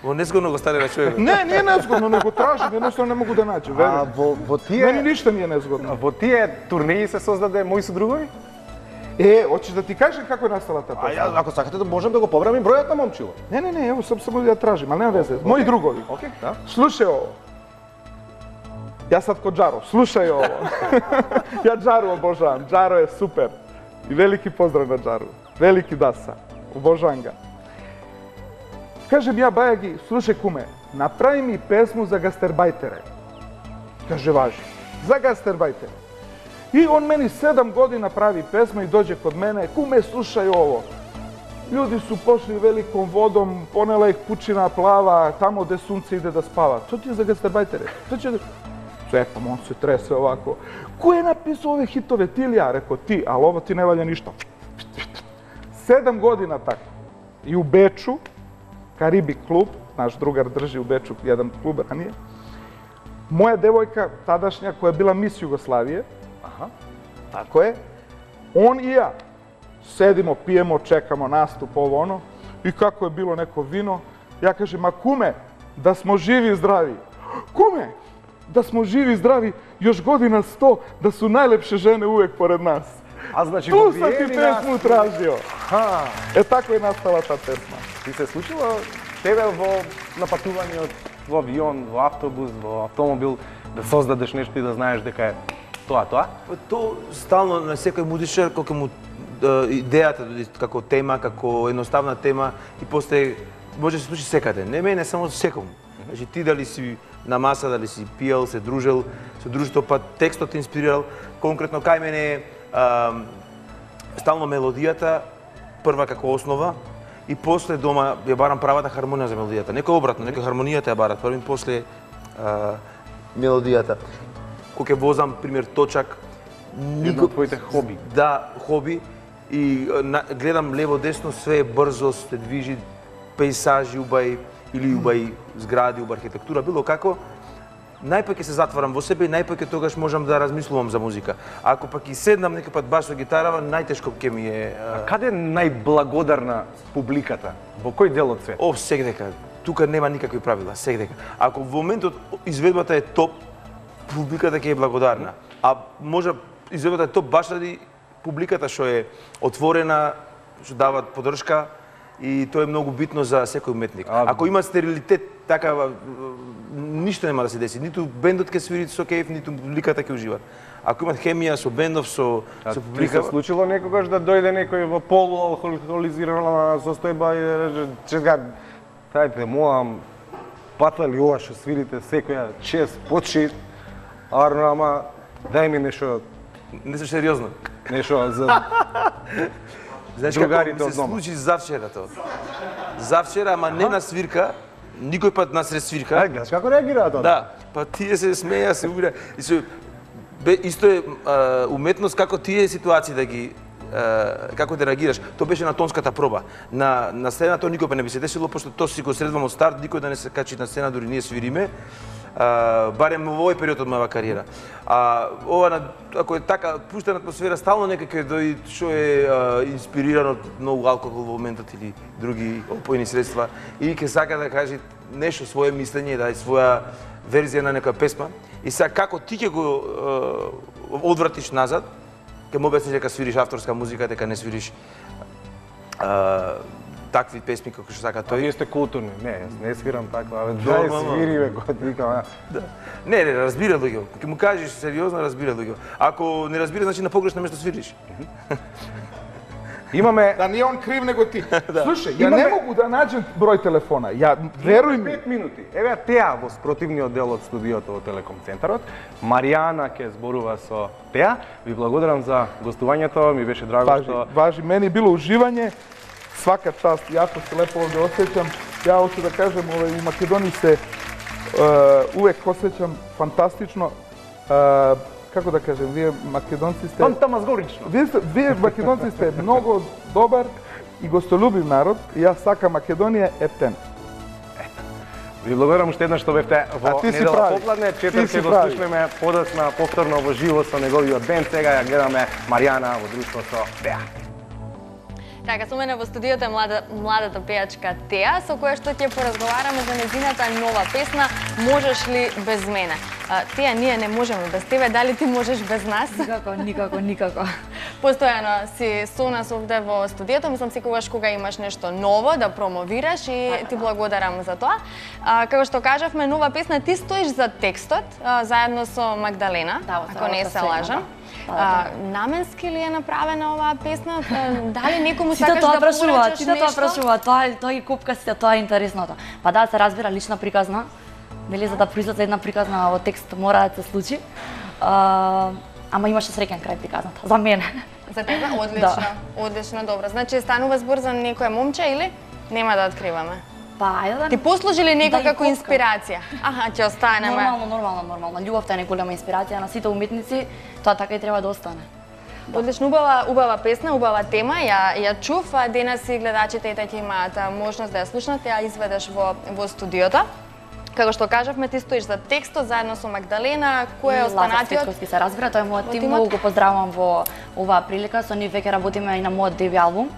Во незгодно го стави на човек. Не, не е незгодно, но го тражим, едноставно не могу да наđem, веруjem. Во тие... Мене ништа не е незгодно. Во тие турнеи се создаде Мои су другови? Hoćeš да ти кажем како е настала таа песна? Ако сакате да можем да го побрамим бројот на Момчило. Не, ево само да ја тражим, али нема везе. Мои другови. Океј, да. Слушај ово. Јас сад ко Джаро, слушај ово. Ја Джару обожавам, Джаро е супер. И велики поздрав на Джару. Велики даса. Обожавам га. Кажем ја Бајаги, слушај куме, направи ми песму за гастербајтере. Каже важи. За гастербајтере. И он мени 7 година прави песма и доđe kod mene, kume slušaj ovo. Ljudi su pošli velikom vodom, ponela ih pučina plava, tamo gde sunce ide da spava. To ti je za gastarbajtere. To će da... Čekam, on se trese ovako. Ko je napisao ove hitove? Ti ili ja? Rekao ti, ali ovo ti ne valja ništa. 7 godina tako. I u Beču, Karibik klub, naš drugar drži u Beču jedan klub ranije. Moja devojka, tadašnja, koja je bila mis Jugoslavije, tako je, on i ja sedimo, pijemo, čekamo nastup, ovo ono, i kako je bilo neko vino, ja kažem, ma kume, da smo živi i zdravi. Kume, da smo živi i zdravi, još godina 100, da su najlepše žene uvek pored nas. A значи Tu sam ti pesmu tražio. Tako je nastala ta pesma. Ти се случило тебе на патување во авион, во автобус, во автомобил, да создадеш нешто и да знаеш дека е тоа? То стално на секој музичар кога му идејата како тема, како едноставна тема и после може да се случи секаде. Не мене, само секому. Значи ти дали си на маса, дали си пиел, се дружел со друштво, па текстот те инспирирал. Конкретно кај мене стално мелодијата прва како основа и после дома ја барам правата хармонија за мелодијата. Некој обратно, некој хармонијата ја барат први, после мелодијата. Кога ќе возам, пример, точак, Едно од твоите хоби. Да, хоби. И гледам лево-десно, све е брзо, се движи, пейсажи убај, или убај згради, убај архитектура, било како. Најпак ќе се затварам во себе и најпак тогаш можам да размислувам за музика. Ако пак и седнам некој пат баш со гитарава, најтешко ќе ми е... Каде е најблагодарна публиката? Во кој дел од свет? Сегдека. Тука нема никакви правила, сегдека. Ако во моментот изведбата е топ, публиката ќе е благодарна. А може изведбата е топ баш ради публиката што е отворена, што дава поддршка и тоа е многу битно за секој уметник. Ако има стерилитет, такава ништо нема да се деси. Ниту бендот ќе свири со кејф, ниту публиката ќе ужива. Ако имат хемија со бендов, со публика... Ти се случило некогаш да дојде некој во полуалкохолизирана состојба и да рече, чека, тајте, молам, патла ли ова што свирите секоја чест, почит, арно, ама дај ми нешто... Не се сериозно. Нешто за... Знаеш другарите како ми од се дома. случи завчера тоа. Завчера, ама не на свирка, никој пат насред свирка. Ај, гледаш како реагира тоа? Да, па тие се смеја, се убира. И се исто е уметност како тие ситуации да ги како да реагираш. Тоа беше на тонската проба. На сцена тоа никој не би се десило, пошто тоа си го средвам од старт, никој да не се качи на сцена, дури ние свириме. Барем во овој период од мојава кариера. Ова, ако е така пуштена атмосфера, стално некако дојде што е инспириран од многу алкохол во моментот или други опојни средства и ќе сака да каже нешто своје мислење, да даде своја верзија на некоја песма. И сега како ти ќе го одвратиш назад, ќе му објасниш дека свириш авторска музика, дека не свириш такви песми како што сака тој. Вие сте културни. Не, јас не свирам таква, дај свири бе, кога викам. Не, разбира луѓе. Ќе му кажеш сериозно, разбира луѓе. Ако не разбира, значи на погрешно место свириш. Имаме... Да не е он крив, него ти. Слушај, ја не могу да наđem број телефона. Ја, веруј ми. 5 минути. Еве Теа во спротивниот дел од студиото во Телеком центарот. Маријана ќе зборува со Теа. Ви благодарам за гостувањето, ми беше драго што... Важи, мени било уживање. Свака част, јако се лепо овде осеќам. Ја hoću да кажем, у Македонија се увек осеќам фантастично. Како да кажем, вие македонци сте... Фантамазгорично. Вие македонци сте многу добар и гостолюбив народ и јас сакам Македонија ептен. Ви благодарам уште еднаш што бевте во недела попладне. Четврт ќе го слушнеме подоцна повторно во живо со неговиот бенд. Сега ја гледаме Маријана во друштво со Теа. Така, со мене во студиото е младата пејачка Теа, со која што ќе поразговараме за нејзината нова песна "Можеш ли без мене". Теа, ние не можеме без тебе, дали ти можеш без нас? Никако. Постојано си со нас овде во студиото, мислам секогаш кога имаш нешто ново да промовираш и ти благодарам за тоа. Како што кажавме, нова песна, ти стоиш за текстот заедно со Магдалена, ако не се лажам. Наменски ли е направена оваа песна? Дали некому сакаш да порачаш нешто? Тоа прашува, тоа ги копка сите, тоа е интересното. Па да, се разбира лична приказна, нели, за да произлезе една приказна во текст мора да се случи. Ама имаше среќен крај приказната, за мене. За тебе? Одлично, одлично, добро. Значи, станува збор за некое момче или? Нема да откриваме. Па, ајде да... Ти послужи ли некој како инспирација? Аха, ќе останеме. Нормално. Љубовта е најголема инспирација на сите уметници, тоа така и треба да остане. Одлично, убава песна, убава тема, ја чув, денес и гледачите ќе имаат можност да ја слушнат, ја изведеш во студиото. Како што кажавме, ти стоиш за текстот заедно со Магдалена, кој е останатиот? Лазар Светковски се разбира, тој е мојот тим, многу го поздравувам во оваа прилика, со нив веќе работиме и на мојот деби албум,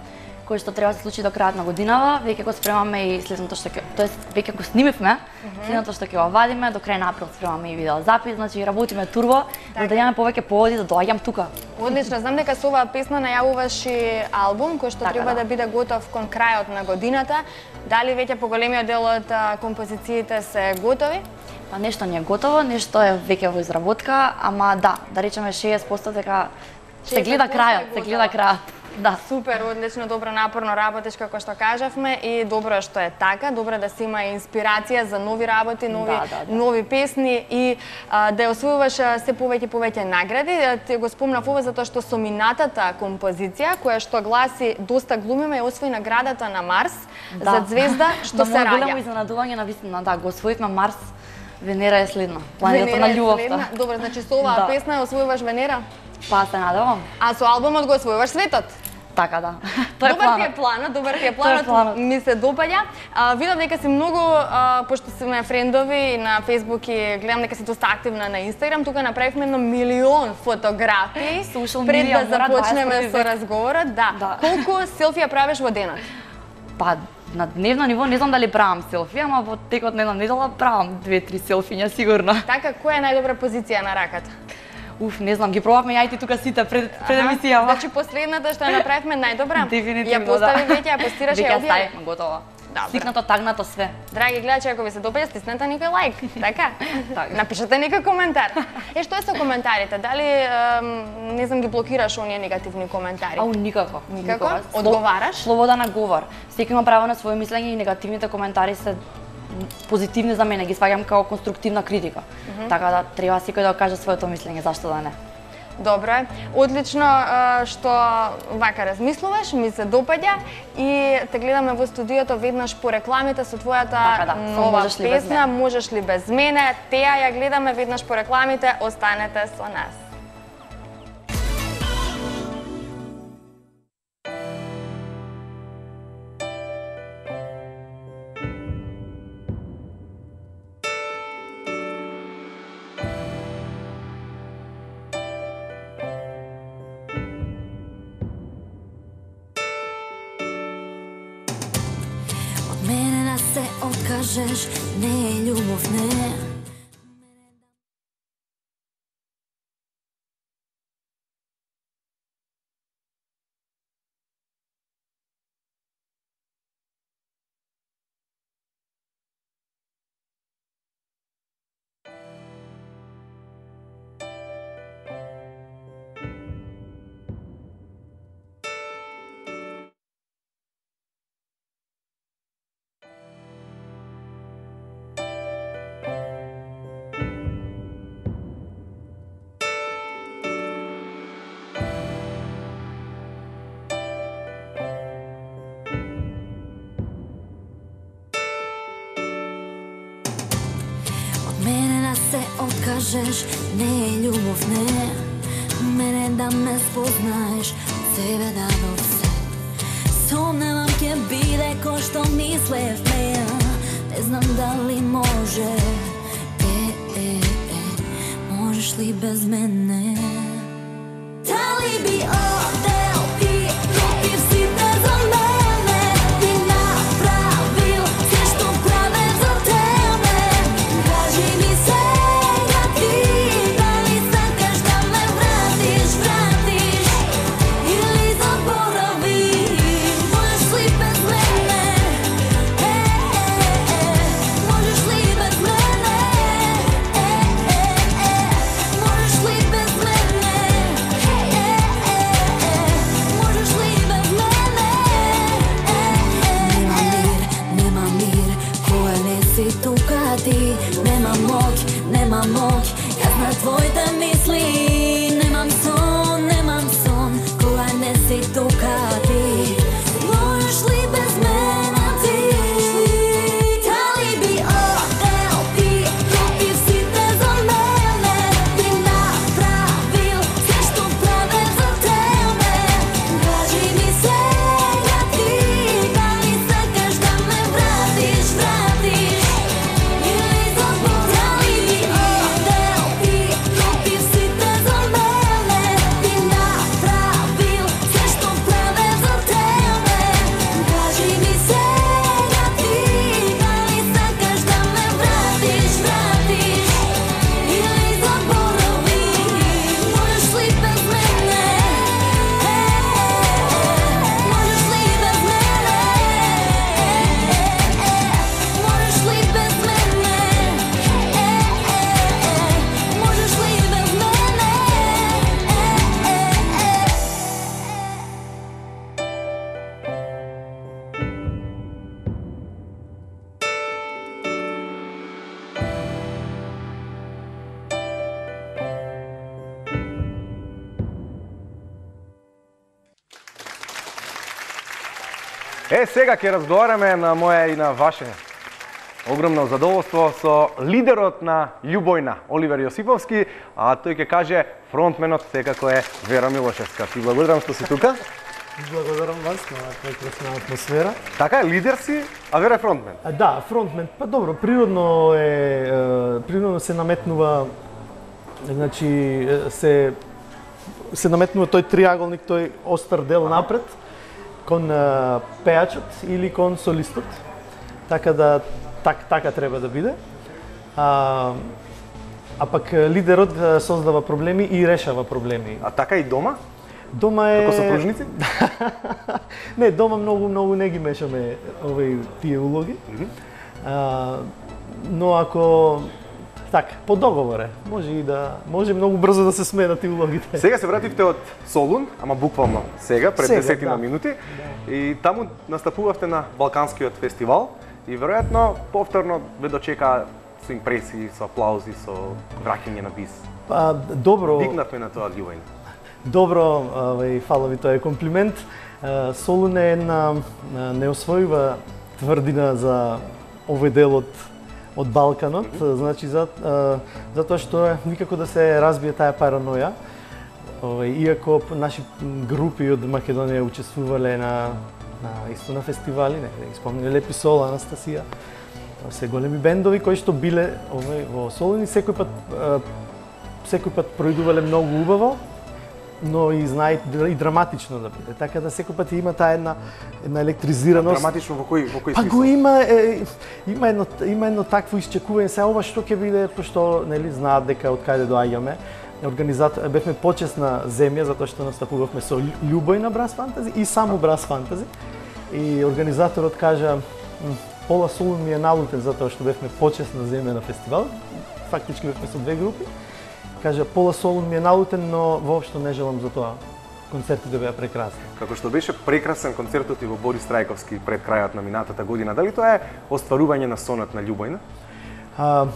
кој што треба да се случи до крајот на годинава, веќе го спремаме и следното што ќе, тоест веќе го снимивме, следното што ќе го вадиме, до крај на април спремаме и видеозапис, значи работиме турбо, за да имаме повеќе поводи да доаѓам тука. Одлично, знам дека со оваа песна најавуваш и албум кој што треба да биде готов кон крајот на годината. Дали веќе поголемиот дел од композициите се готови? Па нешто не е готово, нешто е веќе во изработка, ама да речеме 60% дека се гледа крајот, Да. Супер, одлично, добро, напорно работиш како што кажавме и добро што е така, добро да се има инспирација за нови работи, нови песни и да ја освојуваш се повеќе награди. Ти го спомнав ова затоа што со минатата композиција која што гласи "Доста глумиме" ја освои наградата на Марс за звезда што се раѓа. Големо изненадување навистина, да, го освоивме Марс. Венера е следна, планетата на љубовта. Добро, значи со оваа песна ја освојуваш Венера? Па се надевам. А со албумот го освојуваш светот? Така да. Тоа е планот. Добар ти е планот, ми се допаѓа. Видам дека си многу, пошто сме френдови и на Facebook и гледам дека си доста активна на Instagram, тука направивме 1 милион фотографии пред да започнеме со разговорот. Да. Колку селфија правиш во денот? Па на дневно ниво не знам дали правам селфи, ама во текот на една недела правам 2-3 селфиња сигурно. Така, која е најдобра позиција на раката? Не знам, ги пробавме јајти тука сите пред емисијава. Значи последната што ја направивме најдобра? Дефинитивно, ја постави веќе, ја постираш, ја објави. Веќе ставивме готово. Стикнато, тагнато, све. Драги гледачи, ако ви се допаѓа, стиснете некој лайк, така? Напишете некој коментар. Што е со коментарите? Дали, не знам, ги блокираш оние негативни коментари? Никако. Одговараш? Слобода на говор. Секој има право на своје мислење и негативните коментари се позитивни за мене, ги сваѓам како конструктивна критика. Така да треба секој да каже своето мислење, зашто да не. Добро е. Одлично што вака размислуваш, ми се допаѓа и те гледаме во студиото веднаш по рекламите со твојата нова песна "Можеш ли без мене". Теа ја гледаме веднаш по рекламите, останете со нас. Мене да се откажеш не е љубов, не. се откажеш, не е љубов, не. Мене да ме спознаеш, себе да до се. Сомневам ќе биде кој што мислевме, не знам дали може. Можеш ли без мене? Дали би одел ти, пропив сите за Сега ќе разговараме на моje и на ваше огромно задоволство со лидерот на Љубојна, Оливер Јосиповски, а тој ќе каже фронтменот секако е Вера Милошевска. Ти благодарам што си тука. Благодарам вас на прекрасна атмосфера. Така е, лидер си, а Вера е фронтмен. Да, фронтмен. Па добро, природно се наметнува, значи се наметнува тој триаголник, тој остар дел напред кон пејачот или кон солистот. Така да така треба да биде. А пак лидерот создава проблеми и решава проблеми. А така и дома? Дома е... Како сопружници? Не, дома многу не ги мешаме тие улоги. Но ако така, по договор е, може многу брзо да се сменат и улогите. Сега се вративте од Солун, ама буквално сега, пред 10 минути. И таму настапувавте на Балканскиот фестивал и веројатно повторно ве дочека со импресии, со аплаузи, со враќање на бис. Добро. Дигнавме на тоа Љубојна. Добро, фала ви, тоа е комплимент. Солун е една неосвојува тврдина за овој дел од Балканот, значи затоа што никако да се разбие таа параноја. Иако наши групи од Македонија учествувале исто на фестивали, не ги спомниле Лепи Сол, Анастасија, се големи бендови кои што биле во Солун и секој пат проидувале многу убаво, но и знаат и драматично да биде. Така да секој пат има таа една електризираност. Драматично во кој смисла? Па го има едно такво исчекување. Сега ова што ќе биде, пошто нели знаат дека од каде доаѓаме. Бевме почесна земја затоа што настапувавме со Љубојна Брас Фантази и само Брас Фантази. И организаторот кажа пола Солун ми е налутен затоа што бевме почесна земја на фестивал. Фактички бевме со две групи. Кажа пола Солун ми е налутен, но воопшто не желам за тоа. Концертите беа прекрасни. Како што беше прекрасен концертот и во Борис Трајковски пред крајот на минатата година, дали тоа е остварување на сонот на Љубојна?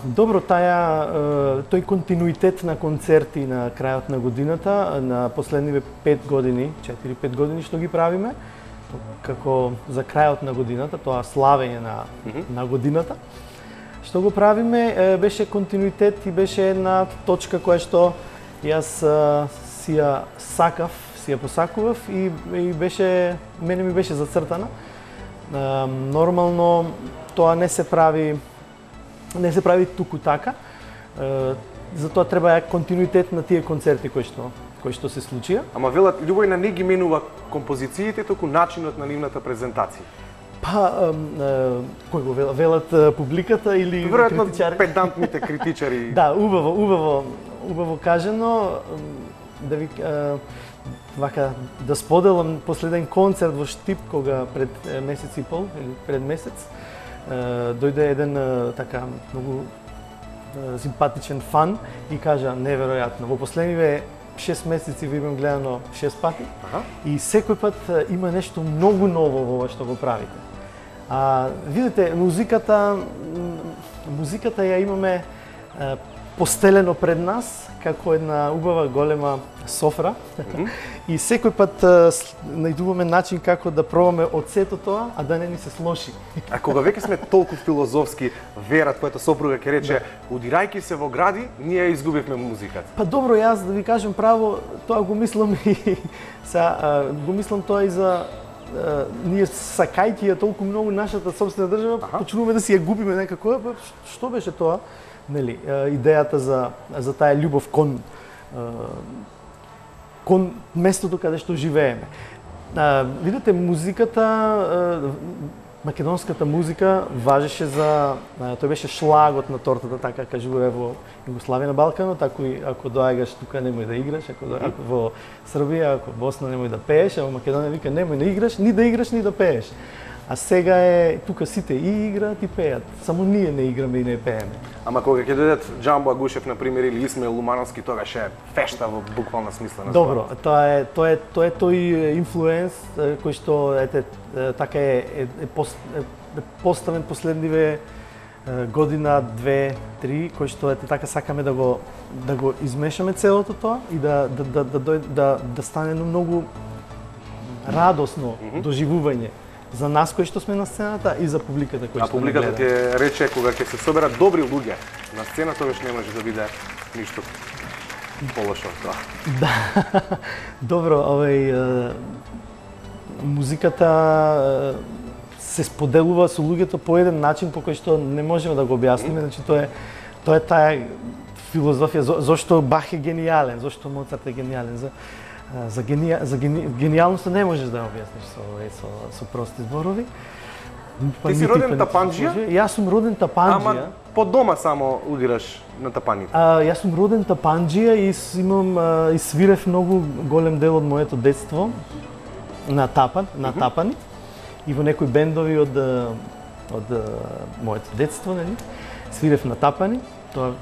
Добро, тој континуитет на концерти на крајот на годината, на последниве 5 години, 4-5 години што ги правиме, како за крајот на годината, тоа славење на годината, што го правиме, беше континуитет и беше една точка која што јас си ја посакував и мене ми беше зацртана. Нормално тоа не се прави туку така. Затоа треба континуитет на тие концерти кои што се случија. Ама велат Љубојна не ги менува композициите, туку начинот на нивната презентација. Па, кој го велат публиката или критичари? Веројатно педантните критичари. Да, убаво кажано. Да споделам последен концерт во Штип, кога пред месец и пол, или пред месец, дојде еден така многу симпатичен фан и кажа неверојатно. Во последниве 6 месеци ви имам гледано 6 пати и секој пат има нешто многу ново во ова што го правите. Видите, музиката ја имаме постелено пред нас како една убава голема софра и секој пат најдуваме начин како да пробаме од сето тоа, а да не ни се слоши. А кога веќе сме толку филозофски, Вера, твојата сопруга ќе рече, удирајќи се во гради, ние изгубивме музиката. Па добро, јас да ви кажам право, тоа го мислам и го мислам тоа и за ние сакајќи ја толку многу нашата собствена држава, почнуваме да си ја губиме некако. Што беше тоа? Нели, идејата за таа љубов кон местото каде што живееме. Видите, музиката, македонската музика важеше тој беше шлагот на тортата, така кажуваме во Југославија на Балканот, ако доаѓаш тука немој да играш, ако во Србија, ако Босна немој да пееш, а во Македонија вика немој да играш, ни да пееш. А сега тука сите и играат и пеат, само ние не играме и не пееме. Ама кога ќе дојдат Џамбо Агушев на пример или Исмаил Лумановски, тогаш е фешта во буквална смисла на Добро, тоа е тој инфлуенс кој што така е поставен последниве година, 2, 3, кој што така сакаме да го измешаме целото тоа и да стане многу радосно доживување за нас кои што сме на сцената и за публиката кои А што публиката ќе рече кога ќе се соберат добри луѓе на сцена, тогаш не може да биде ништо полошо од тоа. Да. Добро, музиката се споделува со луѓето по еден начин по кој што не можеме да го објасниме, значи тоа е таа филозофија зошто Бах е гениален, зошто Моцарт е гениален. За гениалноста не можеш да ја објасниш со прости зборови. Ти си роден тапанџија? Јас сум роден тапанџија. Ама по дома само удираш на тапаните? Јас сум роден тапанџија и и свирев многу голем дел од моето детство на тапани и во некои бендови од моето детство, нели? Свирев на тапани, тоа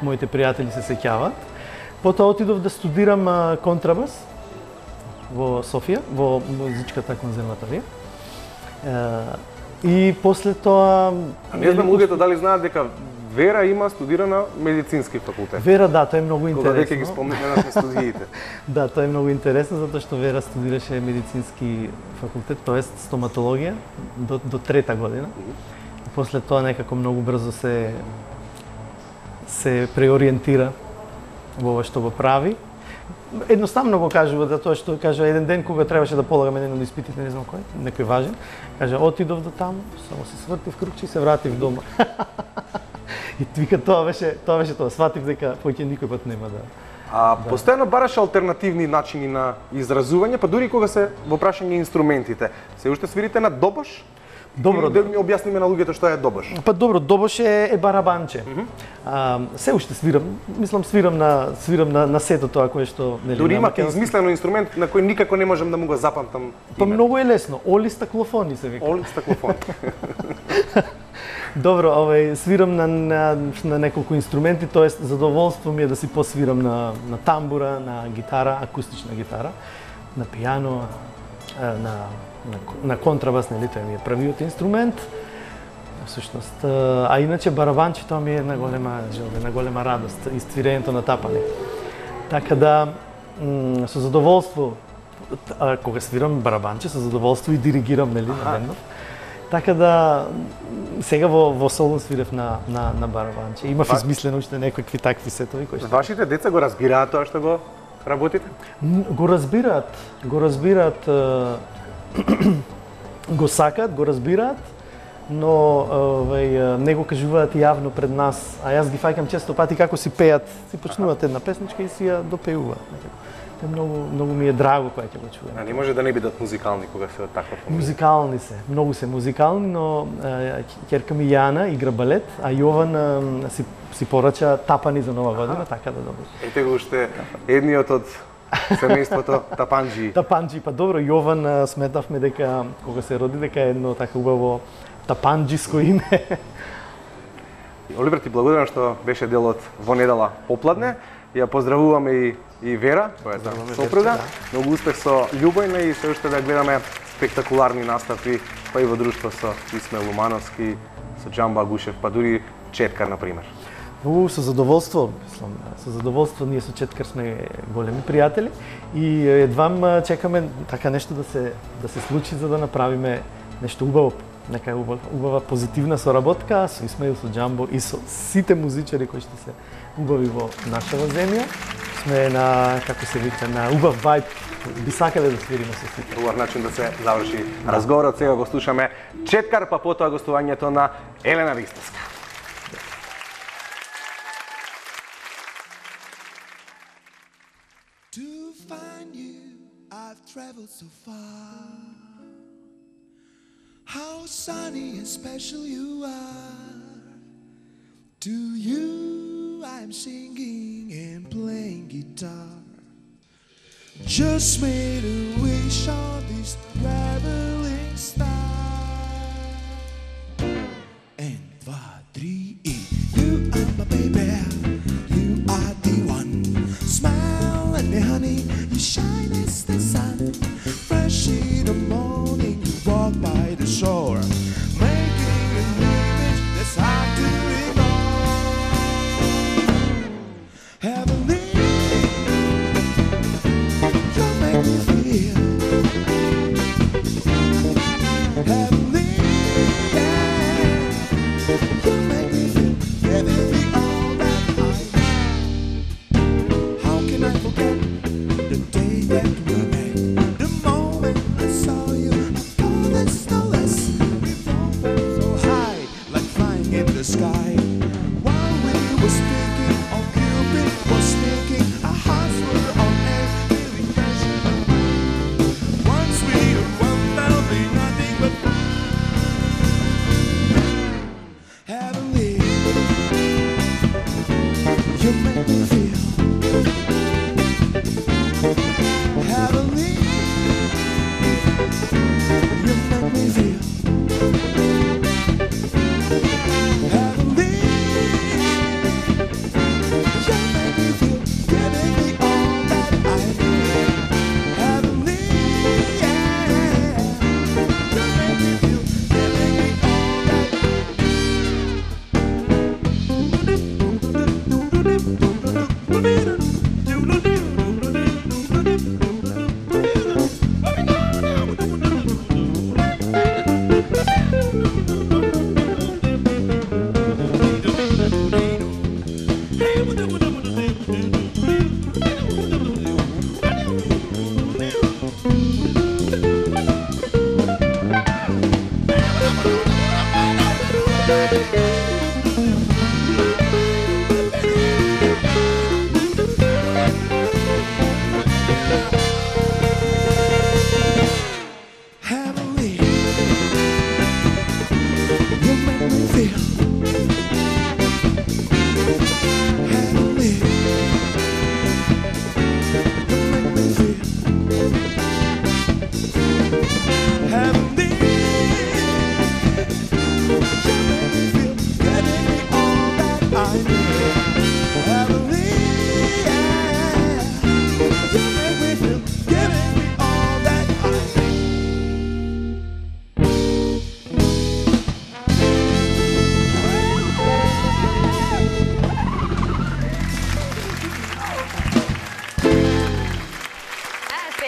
моите пријатели се сеќаваат. Потоа отидов да студирам контрабас во Софија, во музичката конзерваторија. И после тоа... А не знам луѓето дали знаат дека Вера има студирана медицински факултет. Вера, да, тоа е многу интересно. Кога веќе ги споменавме студиите. Да, тоа е многу интересно затоа што Вера студираше медицински факултет, тоест стоматологија до трета година. И после тоа некако многу брзо се преориентира во ова што го прави. Едноставно го кажува, затоа што кажа еден ден кога требаше да полагаме еден од испитите, не знам кој, некој важен, кажа отидов до таму, само се свртив круче и се вратив дома. И вика тоа беше тоа, сватив дека поќе никој пат нема да. Постојано бараше алтернативни начини на изразување, па дури кога се во прашање инструментите. Се уште свирите на добош? Добро, да ми објасниме на луѓето што е добош. Па добро, добош е барабанче. Се уште свирам, мислам свирам на сето тоа кое што нели. Дури има измислено инструмент на кој никако не можам да му го запамтам. Па многу е лесно, оли стаклофони се вика. Оли стаклофони. Добро, свирам на неколку инструменти, тоест задоволство ми е да си посвирам на тамбура, на гитара, акустична гитара, на пијано, на контрабас, нели, тоа ми е првиот инструмент. Всушност, а иначе барабанче тоа ми е една голема желба, една голема радост, иствирењето на тапани. Така да со задоволство кога свирам барабанче, со задоволство и диригирам, нели, на бендов. Така да сега во соло свирев на барабанче. Имав измислено уште некои такви сетови кои што... Вашите деца го разбираат тоа што го работите? Го разбираат, го сакаат, го разбираат, но не го кажуваат јавно пред нас. А јас ги фаќам често пати како си пеат, си почнуваат една песничка и си ја допеуваат. Многу ми е драго кога ќе го чуем. А не може да не бидат музикални кога се од таква фамилија? Музикални се, многу се музикални, но ќерка ми Јана игра балет, а Јован си порача тапани за нова година, така да добро. Ете го уште едниот од семејството тапанџи. Тапанџи, па добро, Јован сметавме дека кога се роди дека е едно така убаво тапанџиско име. Оливер, ти благодарам што беше дел од Во недела попладне. Ја поздравуваме и Вера, твојата сопруга. Многу успех со Љубојна и се уште да гледаме спектакуларни настапи, па и во друштво со Исмаил Лумановски, со Џамбо Агушев, па дури Четкар, например. Со задоволство, мислам, со задоволство ние со Четкар сме големи пријатели и едвам чекаме така нешто да се случи за да направиме нешто убаво, нека убава позитивна соработка со Исмаил, со Џамбо и со сите музичари кои што се убави во нашава земја. Сме на, како се вика, на убав вајб. Би сакале да свириме со сите. Убав начин да се заврши разговорот. Сега го слушаме Четкар, па потоа гостувањето на Елена Ристовска. To find you, I've traveled so far. How sunny and special you are. To you, I'm singing and playing guitar. Just made a wish on this traveling star. And 1, 2, 3, you are my baby, you are the one. Smile at me, honey, you shine as the sun. Fresh in the morning, you walk by the shore, making an image that's hard to ignore. Heavenly, you make me feel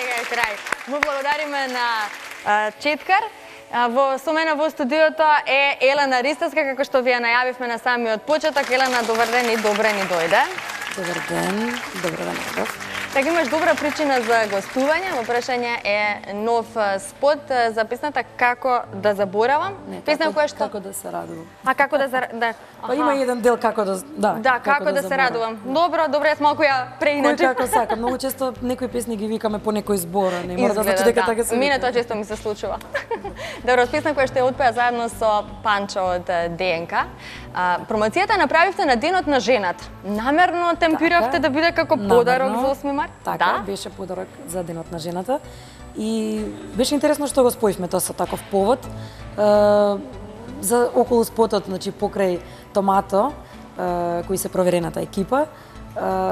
сега е крај. Му благодариме на Четкар. Со мене во студиото е Елена Ристовска, како што ви ја најавивме на самиот почеток. Елена, добар ден и добре ни дојде. Добар ден, добро да не. Така имаш добра причина за гостување. Во прашање е нов спот за песната Како да заборавам. Песна која што Како да се радувам. А како да се да. Па има еден дел како да како да се радувам. Добро, јас малку ја преиначив. Кој како сака. Многу често некои песни ги викаме по некој збор, не мора да значи дека така се. Мене тоа често ми се случува. Добро, песна која што ја отпеа заедно со Панчо од ДНК. Промоцијата направивте на Денот на жената. Намерно темпиравте да биде како подарок за 8 март? Така, беше подарок за Денот на жената. И беше интересно што го споивме тоа со таков повод. За околу спотот, значи покрај Томато, кои се проверената екипа,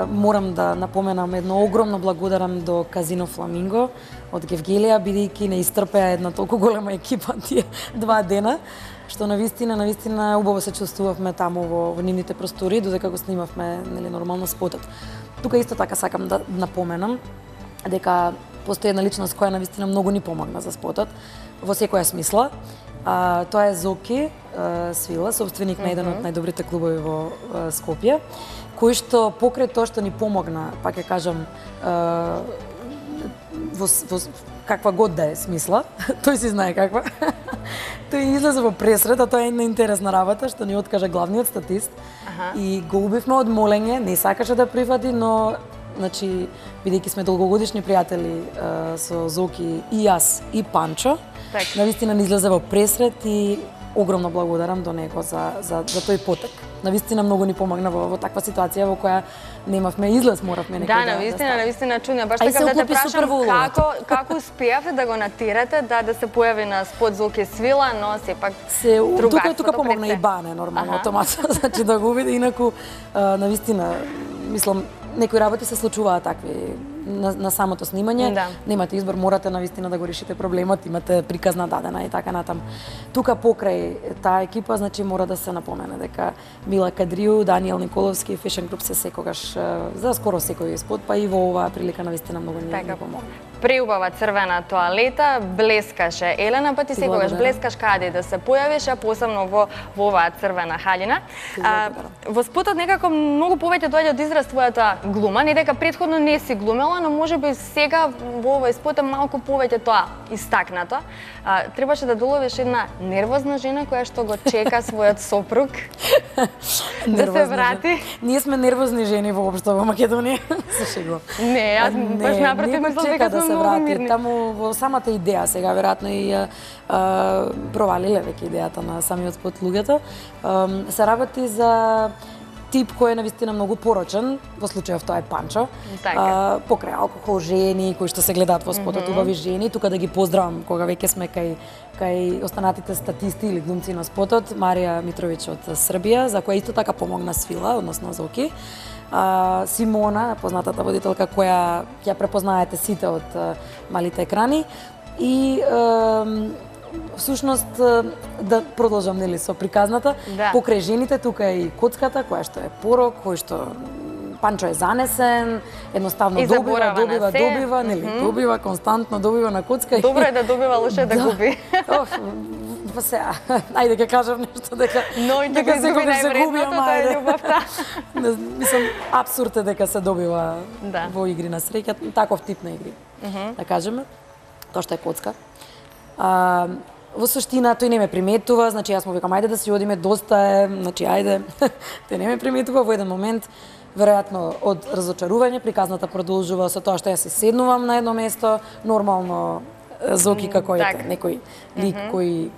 морам да напоменам едно огромно благодарам до Казино Фламинго од Гевгелија, бидејќи не isтрпеа една толку голема екипа тие 2 дена, што навистина убаво се чувствувавме таму во нивните простори, додека го снимавме нормално спотот. Тука исто така сакам да напоменам дека постои една личност која навистина многу ни помогна за спотот во секоја смисла. Тоа е Зоки Свила, собственик на еден од најдобрите клубови во Скопје, кој што покрај тоа што ни помогна, пак ќе кажам, во каква год да е смисла, тој си знае каква. Тој излезе во пресрет, а тоа е една интересна работа што ни откажа главниот статист. И го убивме од молење, не сакаше да прифати, но значи бидејќи сме долгогодишни пријатели со Зоки и јас и Панчо, навистина ни излезе во пресрет и огромно благодарам до него за тој потек. Навистина многу ни помогна во таква ситуација во која немавме излез, моравме некој навистина чудно. Баш така да те прашам како успеавте да го натирате да се појави на спот Зоки Свила, но сепак тука помогна и Бане нормално автоматно, значи да го види, инаку навистина мислам некои работи се случуваат такви на самото снимање, немате избор, морате навистина да го решите проблемот, имате приказна дадена и така натаму. Тука покрај таа екипа, значи мора да се напомене дека Мила Кадрију, Даниел Николовски и Fashion Group се секогаш за скоро секој спот, па и во оваа прилика навистина многу ни помогна. Преубава црвена тоалета, блескаше. Елена, па ти секогаш блескаш каде да се појавиш, а посебно во оваа црвена халина. Во спотот некако многу повеќе доаѓа од израз твојата глума, не дека претходно не си глумела, но можеби сега во овој спот е малку повеќе тоа истакнато. Требаше да доловиш една нервозна жена која што го чека својот сопруг да се врати. Ние сме нервозни жени воопшто во Македонија. Се шегувам. Не, јас баш напротив мислам дека сме многу мирни. Таму во самата идеја сега веројатно и провалиле веќе идејата на самиот спот луѓето. Се работи за тип кој е навистина многу порочен, во случајов тоа е Панчо. Покрај алкохол, жени кои што се гледаат во спотот, убави жени, тука да ги поздравам кога веќе сме кај останатите статисти или глумци на спотот, Марија Митровиќ од Србија, за која исто така помогна Свила, односно Зоки. Симона, познатата водителка која ќе препознаете сите од малите екрани и всушност да продолжам нели со приказната, покрај жените тука е и коцката која што е порок, кој што Панчо е занесен, едноставно добива, нели, добива константно, добива на коцка. Добро е да добива, лошо е да губи. Па сега, ајде ќе кажам нешто дека секогаш се губи, тоа е љубовта. Мислам, апсурд е дека се добива во игри на среќа, таков тип на игри. Да кажеме, тоа што е коцка. Во суштина тој не ме приметува, значи јас му викам ајде да си одиме, доста е, значи ајде. Тој не ме приметува во еден момент, веројатно од разочарување, приказната продолжува со тоа што јас се седнувам на едно место, нормално Зоки како ете некој лик кој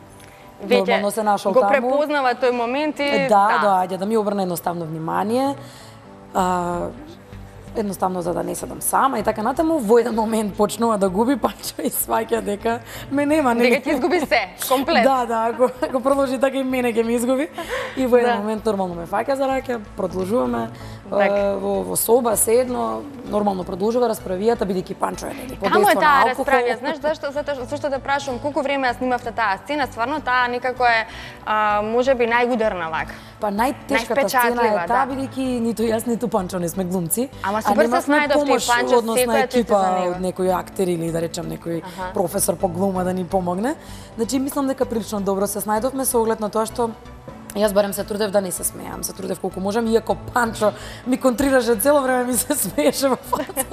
нормално се нашол таму. Го препознава тој момент и доаѓа да ми обрне едноставно внимание. Едноставно за да не седам сама и така натаму, во еден момент почнува да губи Панчо и сваќа дека ме нема. Дека ќе изгуби се, комплет. Ако продолжи така и мене ќе ми изгуби. И во еден момент нормално ме фаќа за раке, продолжуваме, во соба, седно, нормално продолжува расправијата, бидејќи Панчо е нели Каму е подејство на таа алкохол. расправија? Знаеш зашто те прашувам колку време ја снимавте таа сцена? Стварно таа некако е можеби најударна вака. Па најтешката сцена е таа, бидејќи ниту јас, ниту Панчо не сме глумци. Ама супер се снајдовте, Панчо однос на секоја ти се екипа за него. од некој актер или да речем некој професор по глума да ни помогне. Значи мислам дека прилично добро се снајдовме со оглед на тоа што јас барем се трудев да не се смеам, се трудев колку можам, иако Панчо ми контрираше цело време, ми се смееше во фаца.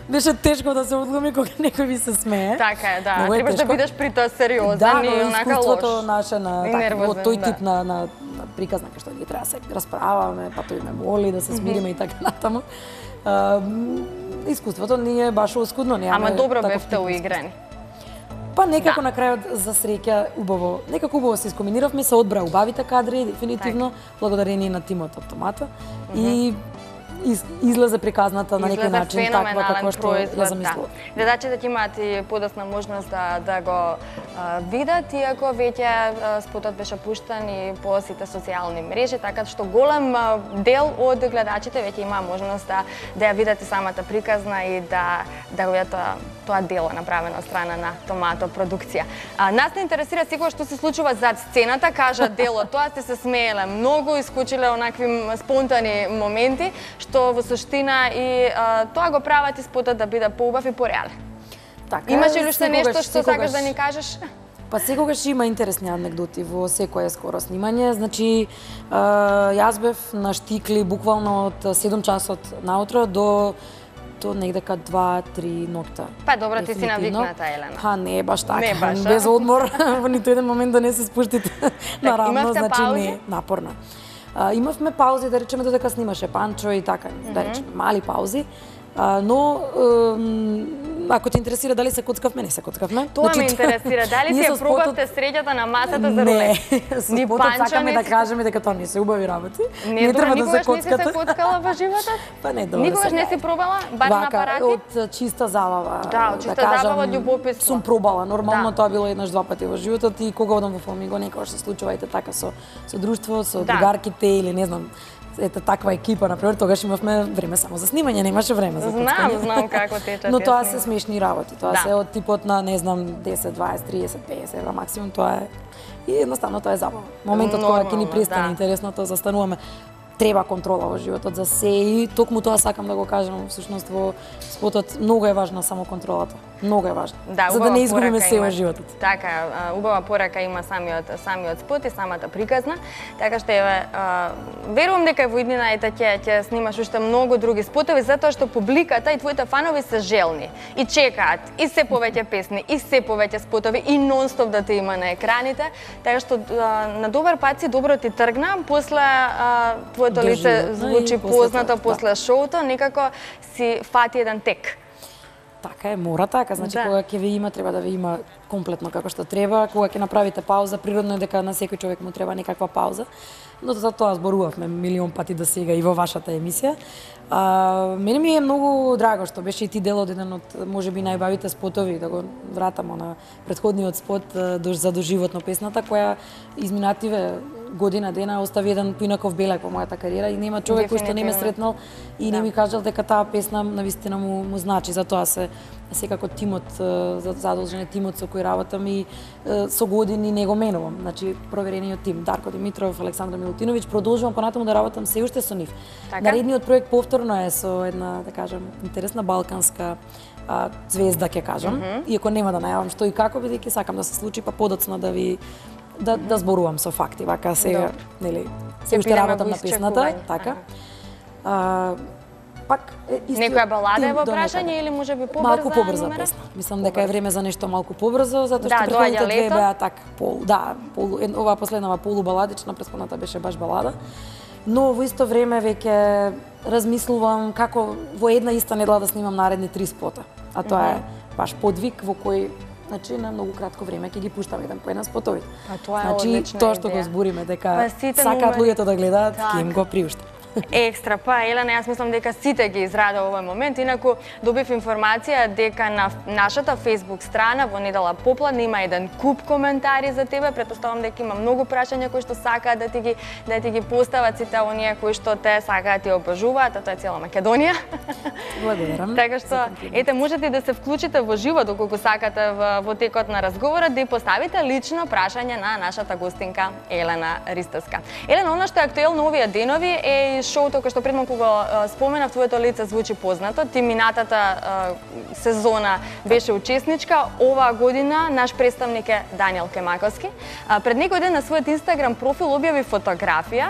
Беше тешко да се одлуми кога некој ви се смее. Така е, да. Многу е Требаш да тешко. бидеш при тоа сериозен Да, и но онака искуството лош. наше на И така, нервозен, од тој да. тип на приказна кај што ги треба се расправаме, па тој ме моли да се смириме и така натаму. Искуството ни е баш оскудно, немаме. Ама добро таков бевте тип уиграни. Па некако на крајот за среќа убаво, некако убаво се искомбиниравме, се одбра убавите кадри, дефинитивно, благодарение на тимот од Томата. И излезе приказната на некој начин таква како што ја замислував. Гледачите ќе имаат и подосна можност да го видат, иако веќе спотот беше пуштен и по сите социјални мрежи, така што голем дел од гледачите веќе има можност да ја видат и самата приказна и да го видат тоа дело направено од страна на Томато продукција. Нас не интересира секој што се случува зад сцената, кажа дело, тоа сте се смееле многу, искучиле онакви спонтани моменти, што во суштина и тоа го прават и спотот да биде поубав и пореален. Така, Имаш ли уште нешто што секогаш- сакаш да ни кажеш? Па секогаш има интересни анекдоти во секое скоро снимање. Значи, јас бев на штикли буквално од 7 часот наутро до негдека 2-3 ноќта. Па добро, ти си Дефинитивно. навикната, Елена. Па не е баш така, Не баш, а? без одмор, во ниту еден момент да не се спуштите наравно, имавте значи паузи? не, напорна. Имавме паузи, да речеме, додека снимаше Панчо и така, да речеме, мали паузи. Но ако те интересира дали се коцкавме, не се коцкавме. Тоа ме интересира, дали ние си ја со спотот- пробавте среќата на масата за Не, рулет? со Ни спотот Панчо, сакаме ни да си- кажеме дека тоа не се убави работи. Не, треба да се никогаш не си се коцкате. коцкала во животот? Па не, добро. Никогаш се не си кај. пробала, бар на Вака, апарати? од чиста забава. Да, од чиста кажам, забава, од љубопитство. Сум пробала, нормално Да. тоа било еднаш-два пати во животот и кога одам во Фламинго, некогаш се случува ете така со друштво, со Да. другарките или не знам, ете таква екипа, например, тогаш имавме време само за снимање, немаше време за коцкање. Знам како течат Но тие тоа снимки. се смешни работи, тоа Да. се од типот на, не знам, 10, 20, 30, 50 евра максимум, тоа е и едноставно тоа е забава. Моментот кога ќе ни Нормално, престане да. интересното, застануваме. Треба контрола во животот за се и токму тоа сакам да го кажам, всушност во спотот многу е важна само контролата. Многу е важна. Да, за да убава не изгубиме порака се има. во животот. Така, убава порака има самиот спот и самата приказна. Така што еве, верувам дека во иднина ќе снимаш уште многу други спотови затоа што публиката и твоите фанови се желни и чекаат и се повеќе песни и се повеќе спотови и нонстоп да те има на екраните. Така што на добар пат си, добро ти тргна, после твоето лице Доживотно звучи и после познато тоа, после шоуто, некако си фати еден тек. Така е, мора така, значи Да. кога ќе ви има, треба да ви има комплетно како што треба. Кога ќе направите пауза, природно е дека на секој човек му треба некаква пауза. Но за тоа зборувавме милион пати до сега и во вашата емисија. Мене ми е многу драго што беше и ти дел од еден од можеби најбавите спотови, да го вратам на претходниот спот за доживотно песната која изминативе година дена остави еден поинаков белег во мојата кариера и нема човек кој што не ме сретнал и не ми кажал дека таа песна навистина му значи. Затоа се секако тимот, задолжен е тимот со кој работам и со години не го менувам. Значи проверениот тим Дарко Димитров, Александра Милутиновиќ, продолжувам понатаму да работам се уште со нив. Така? Наредниот проект повторно е со една, да кажам, интересна балканска звезда, ќе кажам, иако нема да најавам што и како, бидејќи сакам да се случи, па подоцна да ви да зборувам со факти, вака сега, нели, се уште бидеме работам во на песната, исчекување. така. Пак истиот Некоја балада е тим во до прашање некаде. или можеби Малку побрза побрза номера? песна. Мислам дека е време за нешто малку побрзо, затоа Да, што претходните доаѓа две лето. беа така оваа последнава полубаладична, претходната беше баш балада. Но во исто време веќе размислувам како во една иста недела да снимам наредни 3 спота. А тоа е баш подвиг во кој значи на многу кратко време ќе ги пуштам еден по еден спотовите. А тоа е значи одлична тоа што идеја. го збориме дека Па сите сакаат номери- луѓето да гледаат, Така. ќе им го приуштам. Екстра, па Елена, јас мислам дека сите ги израда овој момент, инаку добив информација дека на нашата Facebook страна во недела попладне има еден куп коментари за тебе, претпоставам дека има многу прашања кои што сакаат да ти ги постават сите оние кои што те сакаат и обожуваат, а тоа е цела Македонија. Благодарам. Така што, ете, можете да се вклучите во живо доколку сакате во текот на разговорот, да ја поставите лично прашање на нашата гостинка Елена Ристовска. Елена, она што е актуелно овие денови е шоуто кој што предмалку го споменав, твоето лице звучи познато. Ти минатата сезона беше учесничка, оваа година наш представник е Даниел Кемаковски. Пред некој ден на својот Инстаграм профил објави фотографија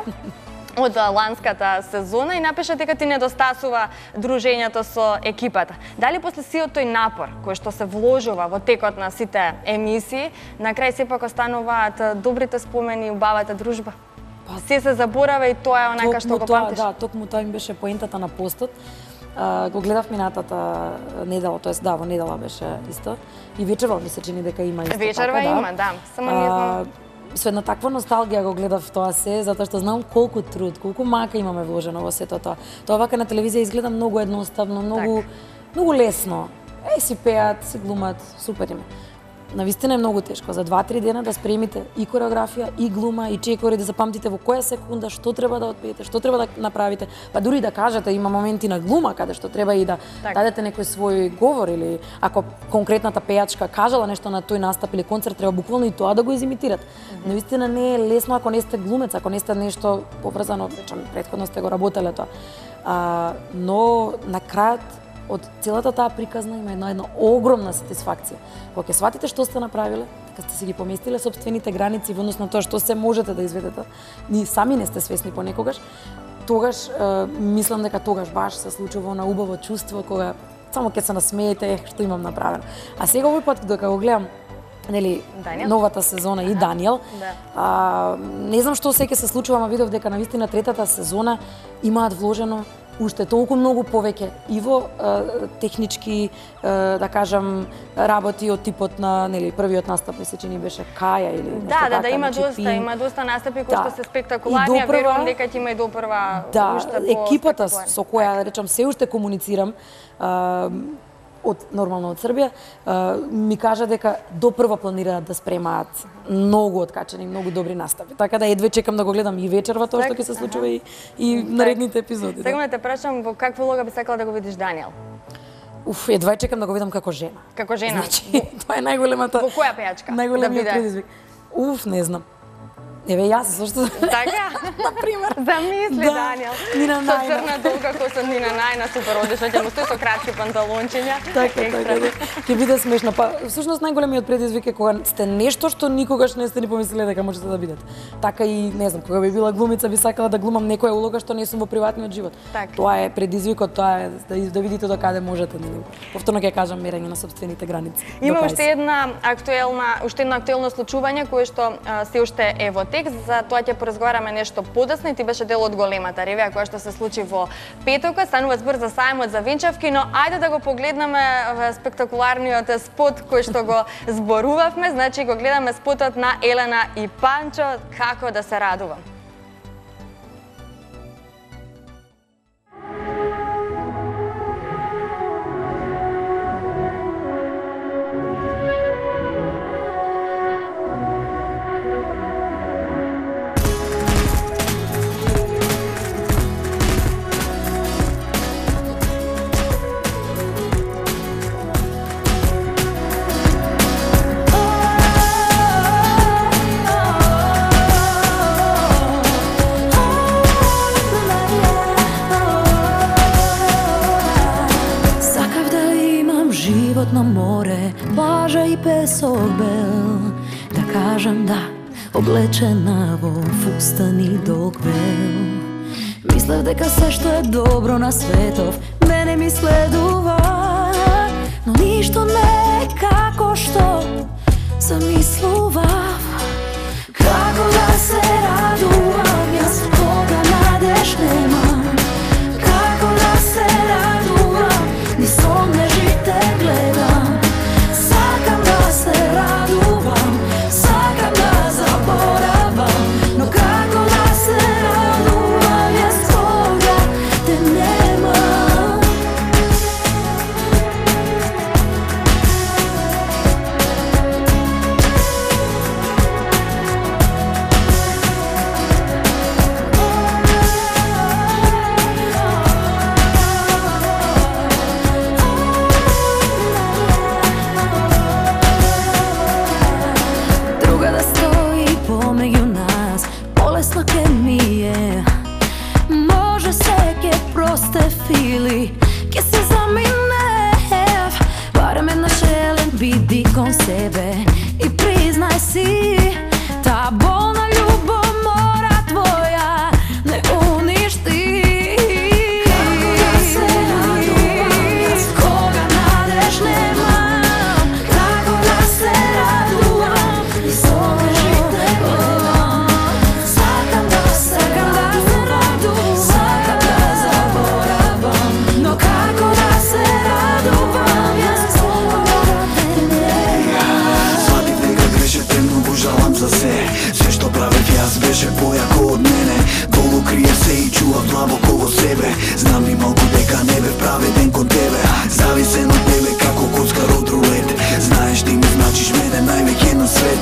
од ланската сезона и напиша дека ти недостасува дружењето со екипата. Дали после сиот тој напор кој што се вложува во текот на сите емисии, на крај сепак остануваат добрите спомени и убавата дружба? Се заборава и тоа е онака што го памтиш? Да, токму тоа им беше поентата на постот. Го гледав минатата недела, тоест да, во недела беше исто. И вечерва ми се чини дека има исто така, да. Вечерва има, да. Само не знам. Со една таква носталгија го гледав тоа се, затоа што знам колку труд, колку мака имаме вложено во сето тоа. Тоа вака на телевизија изгледа многу едноставно, многу лесно. Си пеат, си глумат, супер име. Навистина е многу тешко. За 2-3 дена да спремите и кореографија, и глума, и чекори, да запамтите во која секунда што треба да отпеете, што треба да направите. Па дури да кажете, има моменти на глума каде што треба и да дадете некој свој говор, или ако конкретната пејачка кажала нешто на тој настап или концерт, треба буквално и тоа да го изимитират. Навистина не е лесно ако не сте глумец, ако не сте нешто поврзано, речем, претходно сте го работеле тоа. Но на крајот од целата таа приказна има една огромна сатисфакција. Кога ќе сватите што сте направиле, дека сте си ги поместиле сопствените граници во однос на тоа што се можете да изведете, ни сами не сте свесни понекогаш, тогаш мислам дека тогаш баш се случува на убаво чувство кога само ќе се насмеете што имам направено. А сега овој пат докога го гледам нели новата сезона и Даниел, не знам што се ќе се случува, ама видов дека навистина третата сезона имаат вложено уште толку многу повеќе и во технички, да кажам, работи од типот на, нели, првиот настап ми се чини беше Каја или нешто така. Да, има доста настапи кои што се спектакуларни, верувам дека ќе има и допрва уште по екипата со која, да речам, се уште комуницирам, нормално од Србија, ми кажа дека допрва планираат да спремаат многу откачени, многу добри настапи. Така да едве чекам да го гледам и вечерва тоа што ќе се случува и наредните епизоди. Сега те прашам во каква улога би сакала да го видиш Даниел? Едва чекам да го видам како жена. Како жена? Значи, тоа е најголемата. Во која пејачка? Најголемиот предизвик. Не знам. Еве јас зашто така на пример замисли Даниел Нина со црна долга коса Нина Најна супер одишла ќе му стои со кратки панталончиња така ќе биде смешно. Па всушност најголемиот предизвик е кога сте нешто што никогаш не сте ни помислиле дека можете да бидете. Така и не знам, кога би била глумица би сакала да глумам некоја улога што не сум во приватниот живот. Тоа е предизвикот, тоа е да видите до каде можете, нели. Повторно ќе кажам, мерење на сопствените граници. Има уште едно актуелно случување кое што се уште е во текст, за тоа ќе поразговараме нешто подоцна и ти беше дел од големата ревија која што се случи во петокот. Станува збор за сајмот за венчавки, но ајде да го погледнеме спектакуларниот спот кој што го зборувавме. Значи го гледаме спотот на Елена и Панчо како да се радувам. На море, плажа и песок бел, да кажам да, облечена во фустани долг бел. Мислев дека се што е добро на светов мене ми следува, но ништо не е како што замислував. Како да се радувам, јас кога надеж немам. Како да се радувам, ни сон не жите гледам. Сакам да се радувам, сакам да заборавам, но како да се радувам, јас кога биди кон себе и признай си, та болна љубов мора твоја не уништи. Како да се радувам, кога надеж немам, како да се радувам, и сонешите гледам. Сакам да се радувам, сакам да заборавам, но како да се радувам, јас кога те немам. Сватив дека грешете многу, жалам за се што правев јас беше појако од мене. Долу крие се и чував длабоко во себе. Знам ни малку дека не бев праведен кон тебе, зависен од тебе како коцкар од рулет. Знаеш ти ми значиш мене највеќе на свет.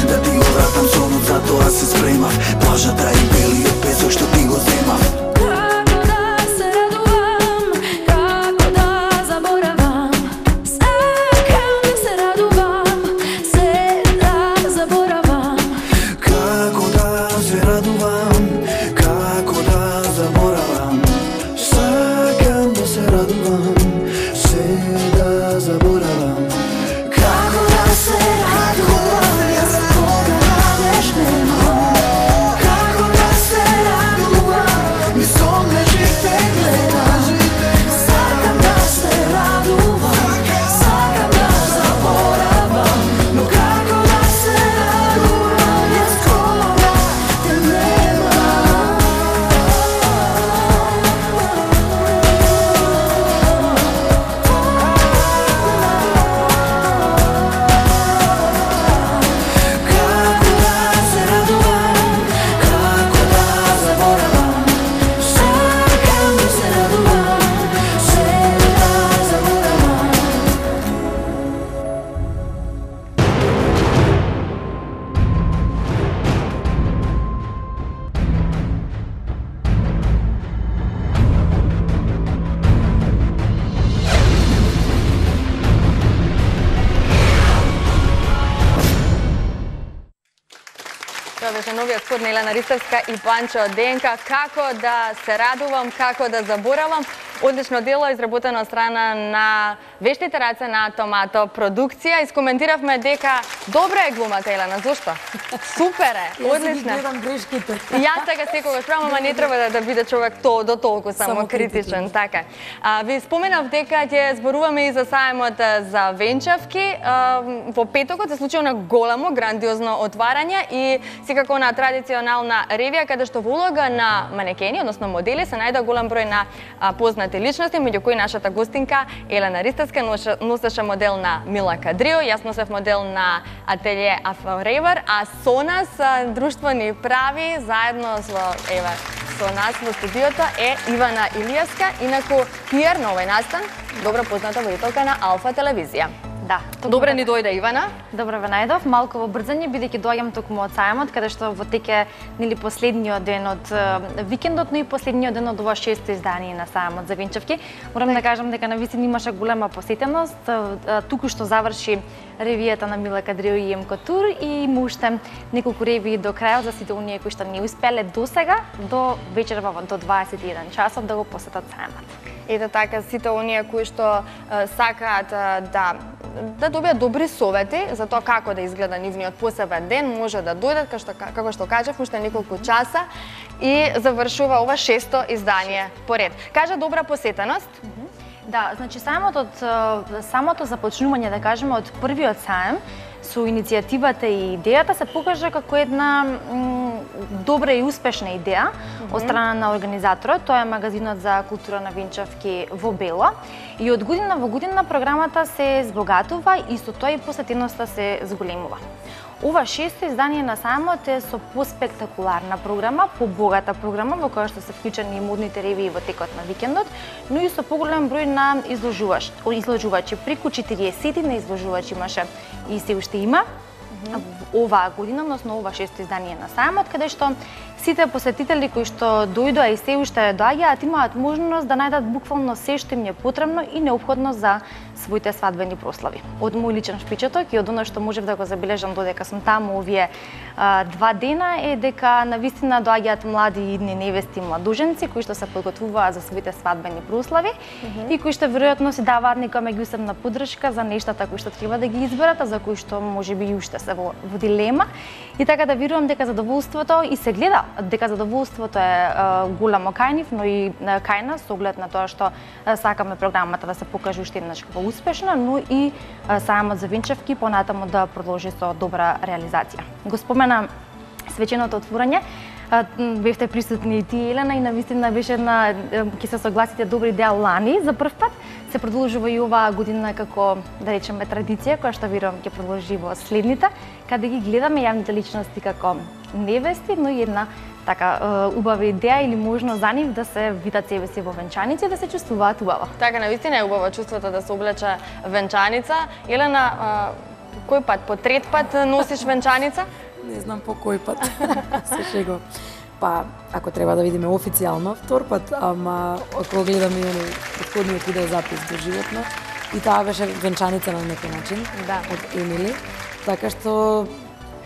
Да ти го вратам сонот, затоа се спремав. Плажата и белиот песок што ти го земав. Како да се радувам, како да заборавам, сакам да се радувам, се да заборавам. Како да се радувам, како да заборавам, сакам да се радувам, се да заборавам. Како да се радувам, јас кога надеж немам. Како да се радувам, И сонечите гледам. сакам да се радувам, сакам да заборавам, но како да се радувам, јас кога те немам. Како да се радувам, како да заборавам, сакам да се радувам, се да заборавам. Тоа беше новиот спот на Елена Ристевска и Панчо Денка. Како да се радувам, како да заборавам. Одлично дело изработено од страна на вештите раце на Томато продукција. Искоментиравме дека добра е глумата, Елена, зошто? Супер е, Јас ги одлична. гледам грешките. Јас така секогаш правам, ама не треба да биде човек до толку само критичен, така. Ви споменав дека ќе зборуваме и за сајмот за венчавки. Во петокот се случи на големо, грандиозно отварање и секако на традиционална ревија, каде што во улога на манекени, односно модели, се најде голем број на познати личности, меѓу кои нашата гостинка Елена Ристевска носеше модел на Мила Кадрио, јас носев модел на ателје Афоревер, а со нас друштво ни прави заедно со нас во студиото е Ивана Илиевска, инаку пиар на овој настан, добро позната водителка на Алфа телевизија. Да. Добре ни дојде, Ивана. Добро ве најдов, малку во брзање, бидејќи доаѓам токму од сајмот, каде што во теке нели последниот ден од викендот, но и последниот ден од ова 6-то издание на сајмот за венчавки. Морам да кажам дека навистина имаше голема посетеност. Туку што заврши ревијата на Мила Кадрио и МК Тур и има уште неколку ревии до крајот за сите оние кои што не успеле досега до вечерва до 21 часов да го посетат сајмот. Ете така, сите оние кои што сакаат да добијат добри совети за тоа како да изгледа нивниот посебен ден, може да дојдат, како што кажав, уште неколку часа и завршува ова 6-то издание поред. Кажа добра посетеност. Да, значи самото започнување, да кажеме, од првиот саем, со иницијативата и идејата се покажа како една добра и успешна идеја од страна на организаторот. Тоа е магазинот за култура на венчавки во Бело. И од година во година програмата се збогатува и со тоа и посетеноста се зголемува. Ова 6-то издание на сајмот е со поспектакуларна програма, побогата програма во која што се вклучени и модните ревии во текот на викендот, но и со поголем број на изложувачи. Преку 40 на изложувачи имаше и се уште има оваа година, односно ова 6-то издание на сајмот, каде што сите посетители кои што дојдоа и се уште доаѓаат имаат можност да најдат буквално се што им е потребно и неопходно за своите свадбени прослави. Од мој личен впечаток и од оно што можев да го забележам додека сум таму овие 2 дена е дека навистина доаѓаат млади идни невести и младоженци кои што се подготвуваат за своите свадбени прослави и кои што веројатно си даваат нека меѓусебна поддршка за нештата кои што треба да ги изберат, а за кои што можеби и уште се во дилема. И така да верувам дека задоволството и се гледа дека задоволството е голямо кај нив, но и кај нас со оглед на тоа што сакаме програмата да се покаже уште еднаш како успешна, но и сајамот за венчавки понатаму да продолжи со добра реализација. Го спомена свеченото отворање. Бевте присутни и ти, Елена, и навистина беше една, ќе се согласите, добра идеја лани за прв пат. Се продолжува и оваа година како, да речеме, традиција, која што верувам ќе продолжи во следните, каде ги гледаме јавните личности како невести, но и една така убава идеја или можност за нив да се видат себе си во венчаници и да се чувствуваат убаво. Така, навистина е убаво чувството да се облече венчаница. Елена, кој пат, по трет пат носиш венчаница? Не знам по кој пат. Се шегувам. Па, ако треба да видиме официјално, втор пат, ама ако гледаме и претходниот видеозапис доживотно, и таа беше венчаница на некој начин, од Емили. Така што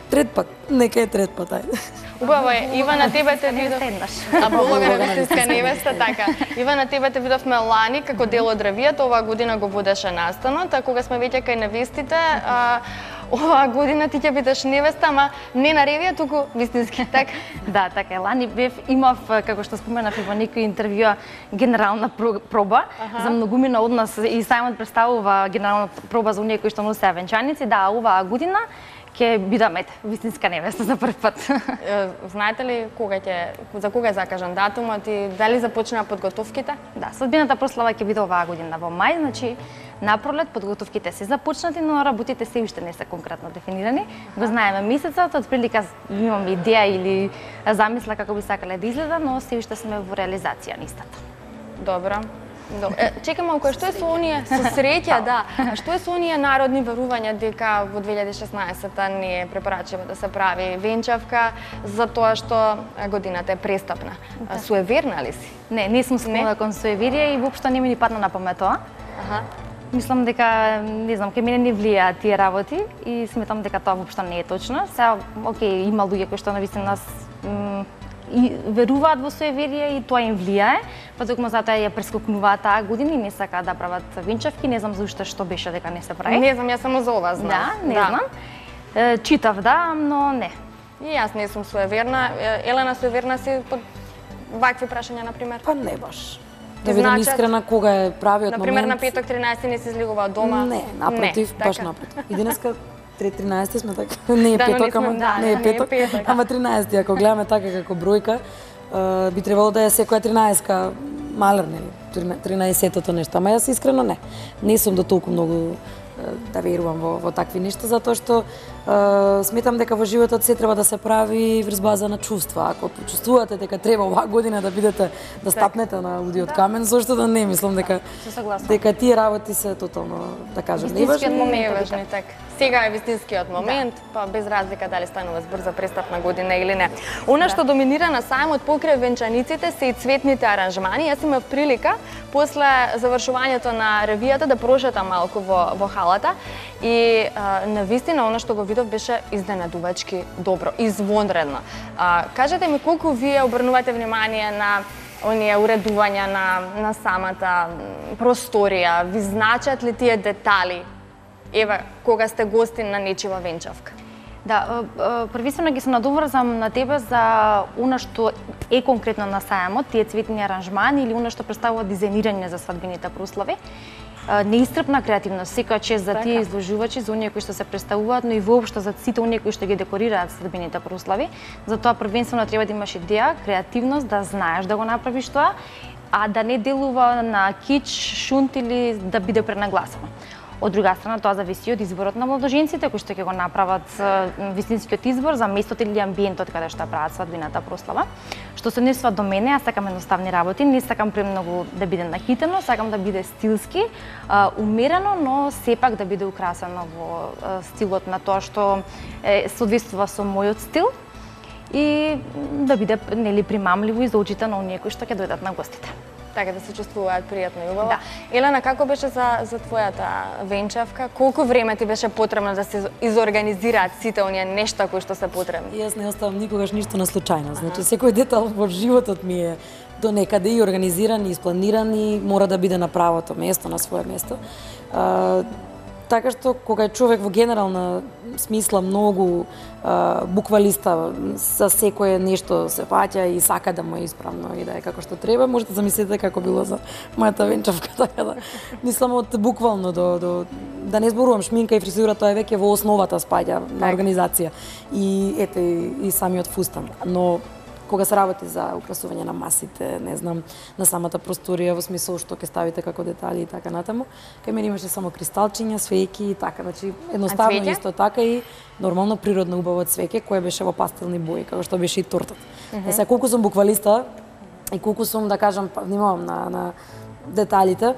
трет пат, нека е трет пат, ајде. Убаво е, Ивана, тебе те видов еднаш. А полога на вистинска невеста, така. Ивана, тебе те видовме лани како дел од ревијата, оваа година го водеше настанот, а кога сме веќе кај невестите, оваа година ти ќе бидеш невеста, ама не на ревија, туку вистински, така? Да, така е. Лани имав, како што споменав и во некој интервју, генерална проба. За многумина од нас и сајмот представува генерална проба за оние кои што носеа венчаници. Да, оваа година ќе бидаме вистинска невеста за прв пат. Знаете ли за кога е закажан датумот и дали започнаа подготовките? Да, свадбената прослава ќе биде оваа година во мај, значи на пролет подготовките се започнати, но работите се уште не се конкретно дефинирани. Го знаеме месецот, отприлика имаме идеја или замисла како би сакале да изгледа, но се уште сме во реализација на истата. Добро. Чекам малку, што е со оние, со среќа, да, а што е со оние народни верувања дека во 2016-та не е препорачливо да се прави венчавка за тоа што годината е престапна? Суеверна ли си? Не сум склона кон суеверие и воопшто не ми ни падна на памет тоа. Мислам дека, не знам, кај мене не влијаат тие работи и сметам дека тоа воопшто не е точно. Сега, окей, има луѓе кои што навистина и веруваат во суеверие и тоа им влијае, па токму затоа ја прескокнуваат таа година и не сакаат да прават венчавки, не знам заушто што беше дека не се прави. Не знам, јас само за ова знам. Да, не знам. Читав, да, но не. И јас не сум суеверна. Елена, суеверна си под вакви прашања, например? Па не баш. Да бидам искрена, кога е правиот момент... Например, на петок 13 не се излегува од дома? Не, напротив, баш напротив. И денеска 13 сме така, не е петок, ама не е петок, ама 13, ако гледаме така како бројка, би требало да е секоја 13-ка малер, нели, 13-тото нешто, ама јас искрено не сум до толку многу да верувам во такви нешта, затоа што сметам дека во животот се треба да се прави врз база на чувства. Ако почувствувате дека треба оваа година да бидете да стапнете на лудиот камен, зошто да не, мислам дека тие работи се тотално, да кажам, вистинскиот момент е важен, така. Сега е вистинскиот момент, па без разлика дали станува збор за престапна година или не. Она што доминира на сајмот покрај венчаниците се и цветните аранжмани. Јас имав прилика после завршувањето на ревијата да прошетам малку во халата и навистина она што го видов беше изненадувачки добро, извонредно. Кажете ми колку вие обрнувате внимание на оние уредувања на самата просторија, ви значат ли тие детали? Ева, кога сте гостин на нечива венчавка? Да, првично ги се надоврзам на тебе за она што е конкретно на сајмот, тие цветни аранжмани или она што представува дизајнирање за свадбените прослави. Неисцрпна креативност, секоја чест за тие изложувачи, за оние кои што се представуваат, но и воопшто за сите оние кои што ги декорираат свадбените прослави. Затоа првенствено треба да имаш идеја, креативност, да знаеш да го направиш тоа, а да не делува на кич, шунт или да биде пренагласено. Од друга страна, тоа зависи од изборот на младоженците кои што ќе го направат вистинскиот избор за местото или амбиентот каде што прават свадбената прослава. Што се однесува до мене, јас сакам едноставни работи, не сакам премногу да биде нахитено, сакам да биде стилски, умерено, но сепак да биде украсено во стилот на тоа што соодветствува со мојот стил и да биде нели примамливо и за очите на оние кои што ќе дојдат на гостите. Така да се чувствуваат пријатно и убаво. Елена, како беше за твојата венчавка? Колку време ти беше потребно да се изорганизираат сите оние нешта кои што се потребни? Јас не оставам никогаш ништо на случајност. Значи секој детал во животот ми е до некаде и организиран, и испланиран и мора да биде на правото место, на свое место. Така што кога е човек во генерална смисла многу буквалиста, за секое нешто се фаќа и сака да му е исправно и да е како што треба, можете замислите како било за мојата венчавка, така да мислам од буквално до да не зборувам шминка и фризура, тоа е веќе во основата спаѓа на организација и ете и самиот фустан. Но кога се работи за украсување на масите, не знам, на самата просторија во смисол што ќе ставите како детали и така натаму, кај мене имаше само кристалчиња, свеќи и така, значи едноставно исто така и нормално природно убаво цвеќе кое беше во пастелни бои, како што беше и тортата. Сега колку сум буквалиста и колку сум да кажам внимавам на деталите,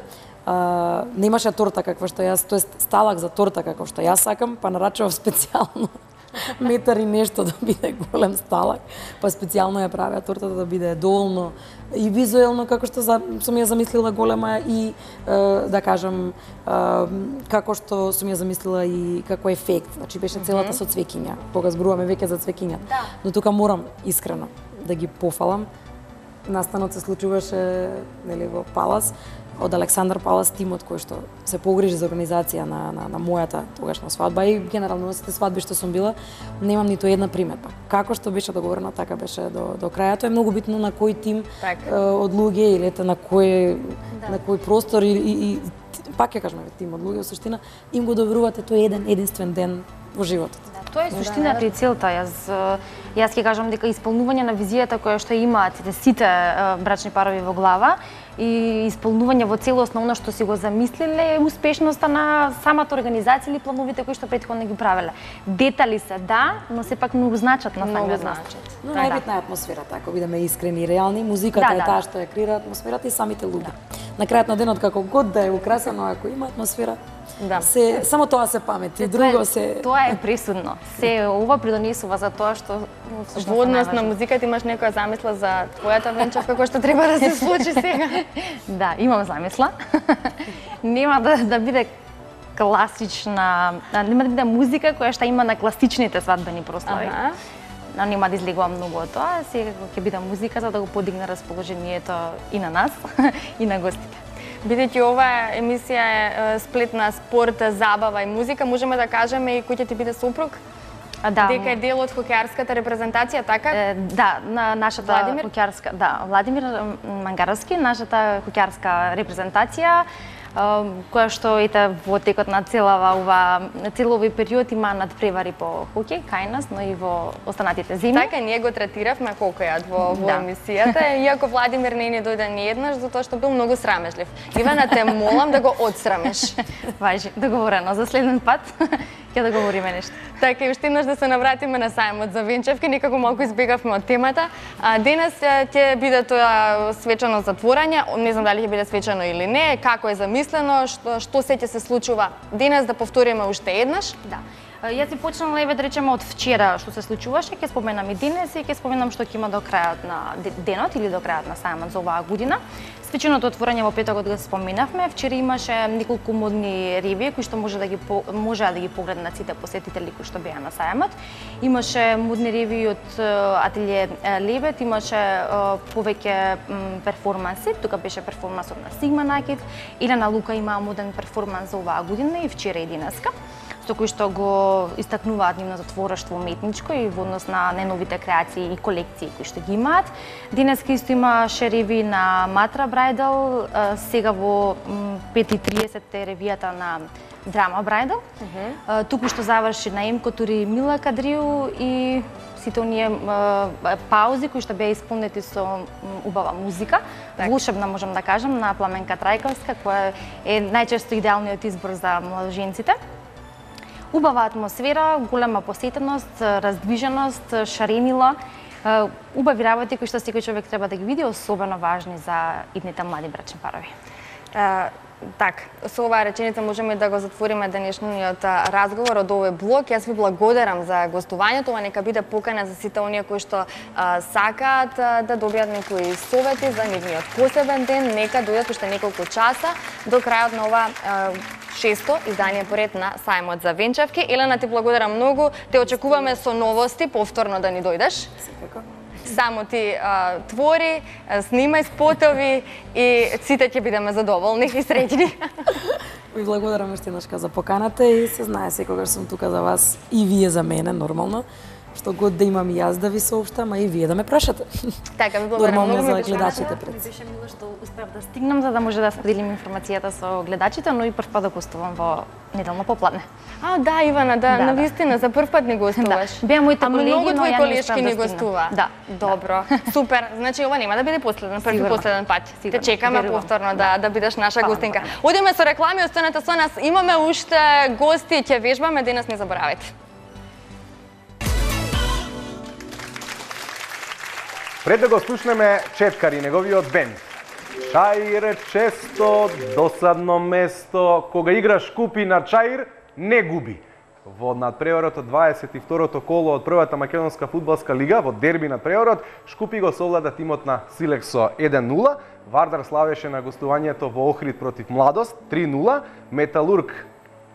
немаше торта каква што јас, тоест сталак за торта како што јас сакам, па нарачував специјално метар и нешто да биде голем сталак, па специјално ја правеа тортата да биде доволно и визуелно како што сум ја замислила голема и да кажам како што сум ја замислила и како ефект, значи беше целата со цвеќиња, кога зборуваме веќе за цвеќиња. Но тука морам искрено да ги пофалам. Настанот се случуваше нели во Палас, од Александар Палас тимот кој што се погрижи за организација на мојата тогашна свадба и генерално на сите свадби што сум била, немам ниту една приметба. Како што беше договорено, така беше до крај. Тоа е многу битно на кој тим од луѓе или на кој простор и пак ќе кажеме тим од луѓе во суштина им го доверувате тој единствен ден во животот. Тоа е суштината и целта. Јас ќе кажам дека исполнување на визијата која што имаат сите брачни парови во глава и исполнување во целост на она што си го замислиле е успешноста на самата организација или плановите кои што претходно ги правеле. Детали се да, но сепак многу значат на самиот настан. Но најбитна е атмосферата, ако бидеме искрени и реални, музиката е таа што ја креира атмосферата и самите луѓе. На крајот на денот како год да е украсено, ако има атмосфера, само тоа се памети, друго се... Тоа е пресудно. Се ова придонесува за тоа што... Во однос на музиката имаш некоја замисла за твојата венчавка која што треба да се случи сега? Да, имам замисла. Нема да биде класична, нема да биде музика која што има на класичните свадбени прослави. Нема да излегувам многу од тоа, сега ќе биде музика за да го подигне расположението и на нас, и на гостите. Бидејќи оваа емисија е сплет на спорт, забава и музика, можеме да кажеме и кој ќе ти биде сопруг? Дека е дел од хокеарската репрезентација, така? Да, на нашата хокеарска, Владимир Мангаровски, нашата хокеарска репрезентација, која што во текот на целови период има надпревари по хокеј кај нас, но и во останатите земји. Така, ние го третиравме хокејот во емисијата, иако Владимир не ни дојде ни еднаш, затоа што бил многу срамежлив. Ивана, те молам да го отсрамеш. Важи, договорено, за следен пат ќе да говориме нешто. Така, и уште еднаш да се навратиме на сајмот за венчавки, некако малку избегавме од темата. Денес ќе биде тоа свечено затворање, не знам дали ќе биде свечено или не, како е замислено, што се ќе се случува денес, да повториме уште еднаш. Да. Јас би почнала еве да речеме од вчера што се случуваше, ќе споменам и денес и ќе споменам што ќе има до крајот на денот или до крајот на сајмот за оваа година. Свеченото отворање во петокот го споменавме. Вчера имаше неколку модни ревии кои што можеа да ги погледнат сите посетители кои што беа на сајмот. Имаше модни ревии од ателје Лебед, имаше повеќе перформанси. Тука беше перформансот на Сигма Накид. Елена Лука има моден перформанс за оваа година и вчера и денеска, со кои што го истакнуваат нивното творештво уметничко и во однос на најновите креации и колекции кои што ги имаат. Денеска исто имаше реви на Матра Брајдал, сега во 5:30 е ревијата на Драма Брајдал. Туку што заврши на Емко Тури Мила Кадриу и сите оние паузи кои што беа исполнети со убава музика, волшебна можам да кажам, на Пламенка Трајковска, која е најчесто идеалниот избор за младоженците. Убава атмосфера, голема посетеност, раздвиженост, шаренила, убави работи кои што секој човек треба да ги види, особено важни за идните млади брачни парови. Так, со оваа реченица можеме да го затвориме денешниот разговор од овој блок. Јас ви благодарам за гостувањето, ова нека биде покана за сите оние кои што сакаат да добијат некои совети за нивниот посебен ден, нека дојдат уште неколку часа до крајот на ова 6-то издание поред на Сајмот за венчавки. Елена, ти благодарам многу. Те очекуваме со новости повторно да ни дојдеш. Само ти твори, снимај спотови и сите ќе бидеме задоволни и среќни. Ви благодарам уште еднашка за поканата и се знае секогаш сум тука за вас и вие за мене, нормално. Што год да имам и јас да ви сообштам, а и вие да ме прашате. Така, ви благодарам нормално многу, за гледачите пред. Ми беше мило што успеав да стигнам за да може да споделим информацијата со гледачите, но и прв пат да гостувам во неделно попладне. Да, Ивана, навистина за прв пат ни гостуваш. Беа моите колеги, многу но твои ја не колешки успеав ни да стигнам. гостува. Да. Добро. Супер. Значи ова нема да биде последен, први Сигурно. последен пат. Те Сигурно. чекаме Верувам. повторно да бидеш наша Фала, гостинка. фала. Одиме со реклами, останете со нас. Имаме уште гости, ќе вежбаме, денес не заборавајте. Пред да го слушнеме Четкар и неговиот бенд. Чаир често досадно место, кога играш купи на Чаир, не губи. Во надпреварот од 22-то коло од првата македонска фудбалска лига, во дерби надпреварот, Шкупи го совлада тимот на Силекс со 1-0, Вардар славеше на гостувањето во Охрид против Младост 3-0, Металург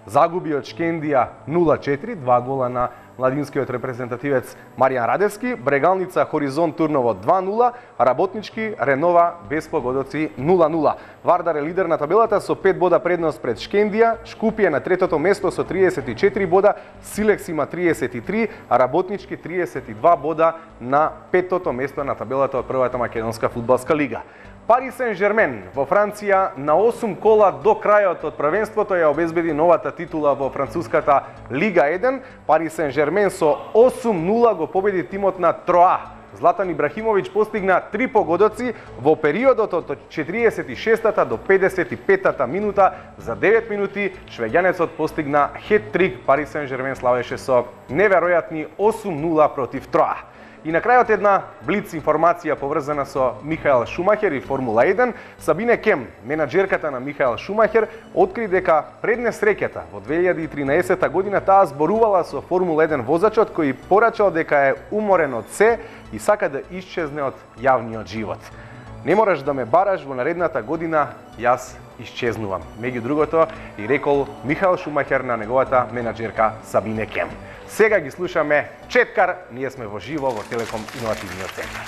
загуби од Шкендија 0-4, 2 гола на младинскиот репрезентативец Маријан Радевски, Брегалница Хоризонт Турново 2-0, Работнички Ренова без погодоци 0-0. Вардар е лидер на табелата со 5 бода предност пред Шкендија, Шкупи е на третото место со 34 бода, Силекс има 33, а Работнички 32 бода на петото место на табелата од првата македонска фудбалска лига. Пари Сен-Жермен во Франција на 8 кола до крајот од првенството ја обезбеди новата титула во француската Лига 1. Пари Сен-Жермен со 8-0 го победи тимот на Троа. Златан Ибрахимовиќ постигна 3 погодоци во периодот од 46-та до 55-та минута. За 9 минути швеѓанецот постигна хет-трик. Пари Сен-Жермен славеше со неверојатни 8-0 против Троа. И на крајот една блиц информација поврзана со Михаел Шумахер и Формула 1. Сабине Кем, менаџерката на Михаел Шумахер, откри дека пред несреќата во 2013 година таа зборувала со Формула 1 возачот кој порачал дека е уморен од се и сака да исчезне од јавниот живот. Не мораш да ме бараш, во наредната година јас исчезнувам. Меѓу другото и рекол Михаел Шумахер на неговата менаџерка Сабине Кем. Сега ги слушаме Четкар, ние сме во живо во Телеком Иновативниот центар.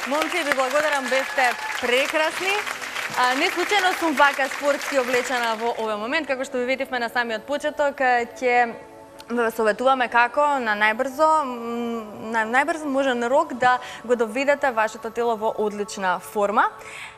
Момци, ви благодарам, бевте прекрасни. Не случајно сум вака спортски облечена во овој момент, како што ви видивме на самиот почеток, ќе ве советуваме како на најбрз можен рок да го доведете вашето тело во одлична форма.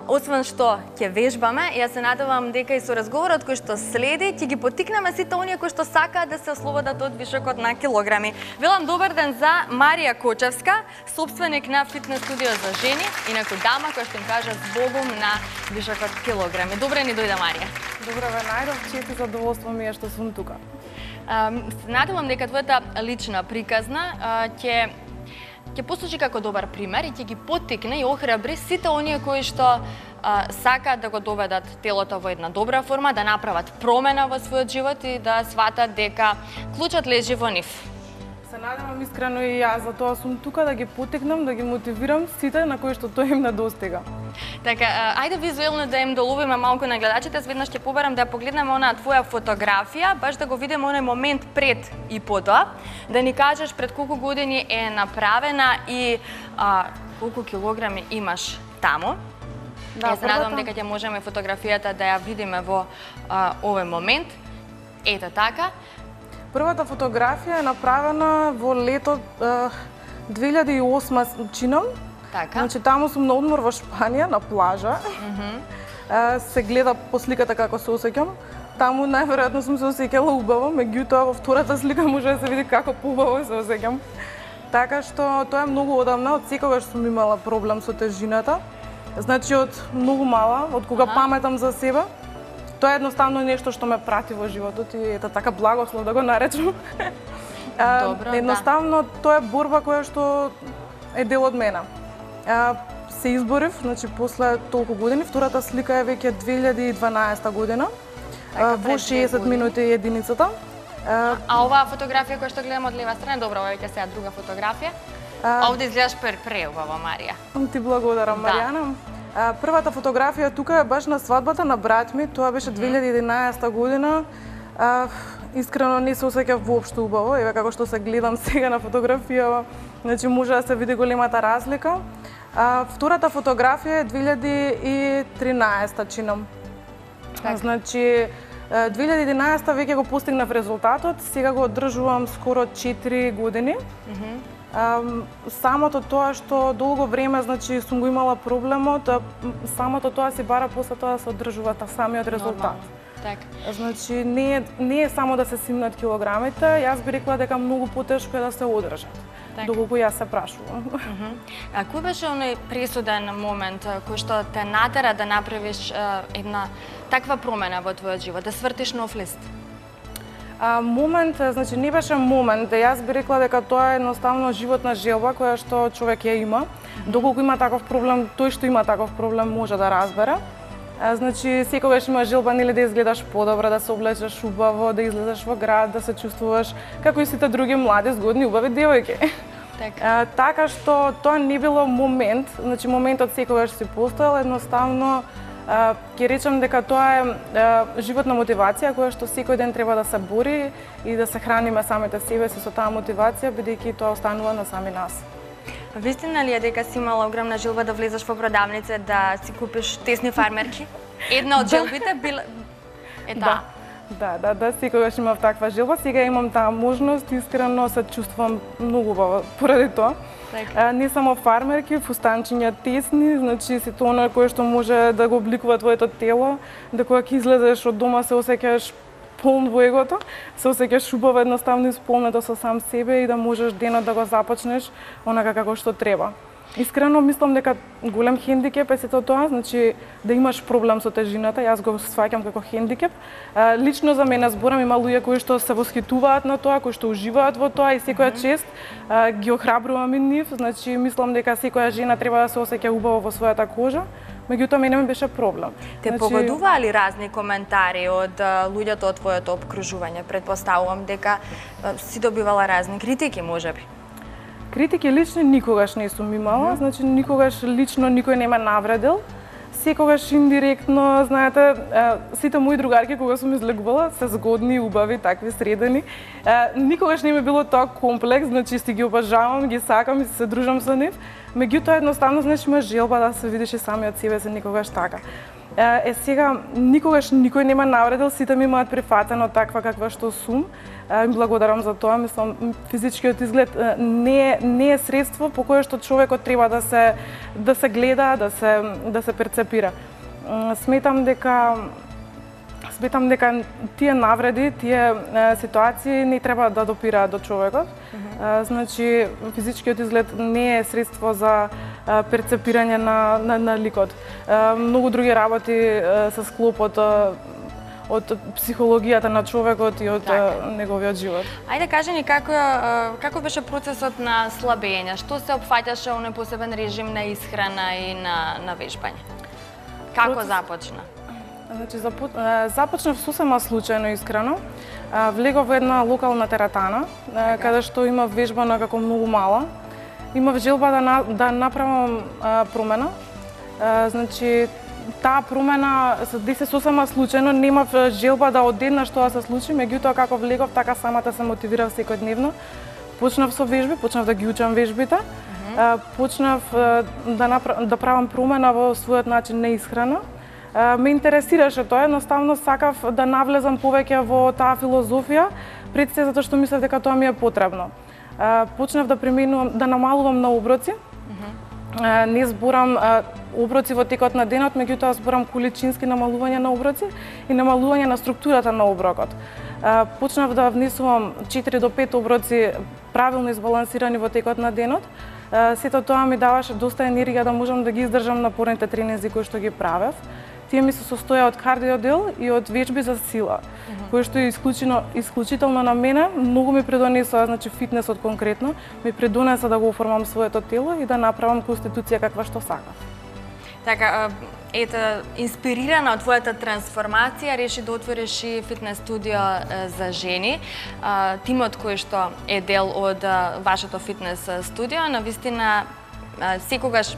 Освен што ќе вежбаме, ја се надевам дека и со разговорот кој што следи ќе ги поттикнеме сите оние кои што сакаат да се ослободат од вишокот на килограми. Велам добар ден за Марија Кочевска, собственик на фитнес студио за жени и некој дама која што им кажа збогум на вишокот килограми. Добре ни дојде, Марија. Добро ве најдов, чест и задоволство ми е што сум тука. Надевам дека твојата лична приказна ќе послужи како добар пример и ќе ги поттикне и охрабри сите оние кои што сакаат да го доведат телото во една добра форма, да направат промена во својот живот и да сватат дека клучот лежи во нив. Се надевам искрено и јас, затоа сум тука да ги поттикнам, да ги мотивирам сите на кои што тој им недостига. Така, ајде визуелно да им доловиме малку на гледачите, веднаш ќе побарам да ја погледнеме онаа твоја фотографија, баш да го видиме оној момент пред и потоа, да ни кажеш пред колку години е направена и колку килограми имаш таму. Да, се надевам дека ќе можеме фотографијата да ја видиме во овој момент. Ето така. Првата фотографија е направена во лето 2008 чинам. Така. Значи таму сум на одмор во Шпанија, на плажа. Се гледа по сликата како се осеќам. Таму најверојатно сум се осеќала убаво, меѓутоа во втората слика може да се види како поубаво се осеќам. Така што тоа е многу одамна, од секогаш сум имала проблем со тежината. Значи од многу мала, од кога паметам за себе. Тоа е едноставно нешто што ме прати во животот и ета така благослов да го наречам. Добро, едноставно тоа е борба која што е дел од мене. Се изборив, значи после толку години, втората слика е веќе 2012 година, во 60 минути единицата. А оваа фотографија која што гледам од лева страна, добро, ова веќе сега друга фотографија. Овде изгледаш преубава, Марија. Ти благодарам, Маријана. Првата фотографија тука е баш на свадбата на брат ми, тоа беше 2011 година. Искрено не се осеќав воопшто убаво, еве како што се гледам сега на фотографија, значи може да се види големата разлика. Втората фотографија е 2013 чинам. Значи 2011 веќе го постигнав резултатот, сега го одржувам скоро 4 години. Самото тоа што долго време, значи, сум го имала проблемот, самото тоа си бара после тоа да се одржува самиот резултат. Значи, не е само да се симнат килограмите, јас би рекла дека многу потешко е да се одржат, доколку јас се прашувам. А кој беше оној пресуден момент кој што те натера да направиш една таква промена во твојот живот, да свртиш нов лист? Момент, значи не беше момент, јас би рекла дека тоа е едноставно животна желба која што човек ја има. Доколку има таков проблем, тој што има таков проблем може да разбере. Значи секогаш има желба нели да изгледаш подобро, да се облечеш убаво, да излезеш во град, да се чувствуваш како и сите други млади, згодни, убави девојки. Така што тоа не било момент, значи моментот секогаш си постоел, едноставно ќе речам дека тоа е животна мотивација која што секој ден треба да се бори и да се храниме самите себе си со таа мотивација, бидејќи тоа останува на сами нас. Вистина ли е дека си имала огромна желба да влезеш во продавница да си купиш тесни фармерки? Една од желбите била таа. Да, секогаш имав таква желба, сега имам таа можност, искрено се чувствувам многу убаво поради тоа. Не само фармерки, фустанчиња тесни, значи сето она кое што може да го обликува твоето тело, да кога ќе излезеш од дома се осеќаш полн во егото, се осеќаш убаво, едноставно исполнето со сам себе и да можеш денот да го започнеш онака како што треба. Искрено мислам дека голем хендикеп е сето тоа, значи да имаш проблем со тежината, јас го сваќам како хендикеп. Лично за мене зборам, има луѓе кои што се восхитуваат на тоа, кои што уживаат во тоа и секоја чест ги охрабрувам и нив, значи мислам дека секоја жена треба да се осеќа убаво во својата кожа. Меѓутоа мене ми беше проблем. Те погодуваа ли разни коментари од луѓето од твоето опкружување? Претпоставувам дека си добивала разни критики, можеби. Критики лично никогаш не сум имала, значи никогаш лично никој не ме навредил. Секогаш индиректно, знаете, сите мои другарки кога сум излегувала се згодни, убави, такви средени. Никогаш не ми било тоа комплекс, значи си ги обожавам, ги сакам и се дружам со нив. Меѓутоа едноставно значи има желба да се видиш и самиот себе се никогаш така. Сега никогаш никој не ме навредил, сите ми имаат прифатено таква каква што сум. Им благодарам за тоа, мислам физичкиот изглед не е средство по кое што човекот треба да се гледа, да се перцепира. Сметам дека тие навреди, тие ситуации не треба да допираат до човекот. Значи физичкиот изглед не е средство за перцепирање на ликот. Многу други работи се склопот од психологијата на човекот и од неговиот живот. Ајде кажи ни како беше процесот на слабење? Што се опфаќаше оној посебен режим на исхрана и на вежбање? Како започна? Значи започнав сосема случајно искрено. Влегов во една локална тератана каде што имав вежбана како многу мала. Имав желба да направам промена. Значи таа промена се деси сосема случајно, немав желба да одеднаш тоа се случи, меѓутоа како влегов така самата се мотивирав секојдневно. Почнав со вежби, почнав да ги учам вежбите. Почнав да правам промена во својот начин на исхрана. Ме интересираше тоа, едноставно сакав да навлезам повеќе во таа филозофија, пред се затоа што мислев дека тоа ми е потребно. Почнав да намалувам на оброци. Не зборам оброци во текот на денот, меѓутоа зборам количински намалување на оброци и намалување на структурата на оброкот. Почнав да внесувам 4 до 5 оброци правилно избалансирани во текот на денот. Сето тоа ми даваше доста енергија да можам да ги издржам напорните тренинзи кои што ги правев. Тие ми се состоја од кардиодел и од вежби за сила, кои што е исклучително на мене, многу ми придонесоа, значи фитнесот конкретно, ми придонеса да го оформам своето тело и да направам конституција каква што сакав. Така, ето, инспирирана од твојата трансформација, реши да отвориш и фитнес студио за жени. Тимот кој што е дел од вашето фитнес студио, навистина секогаш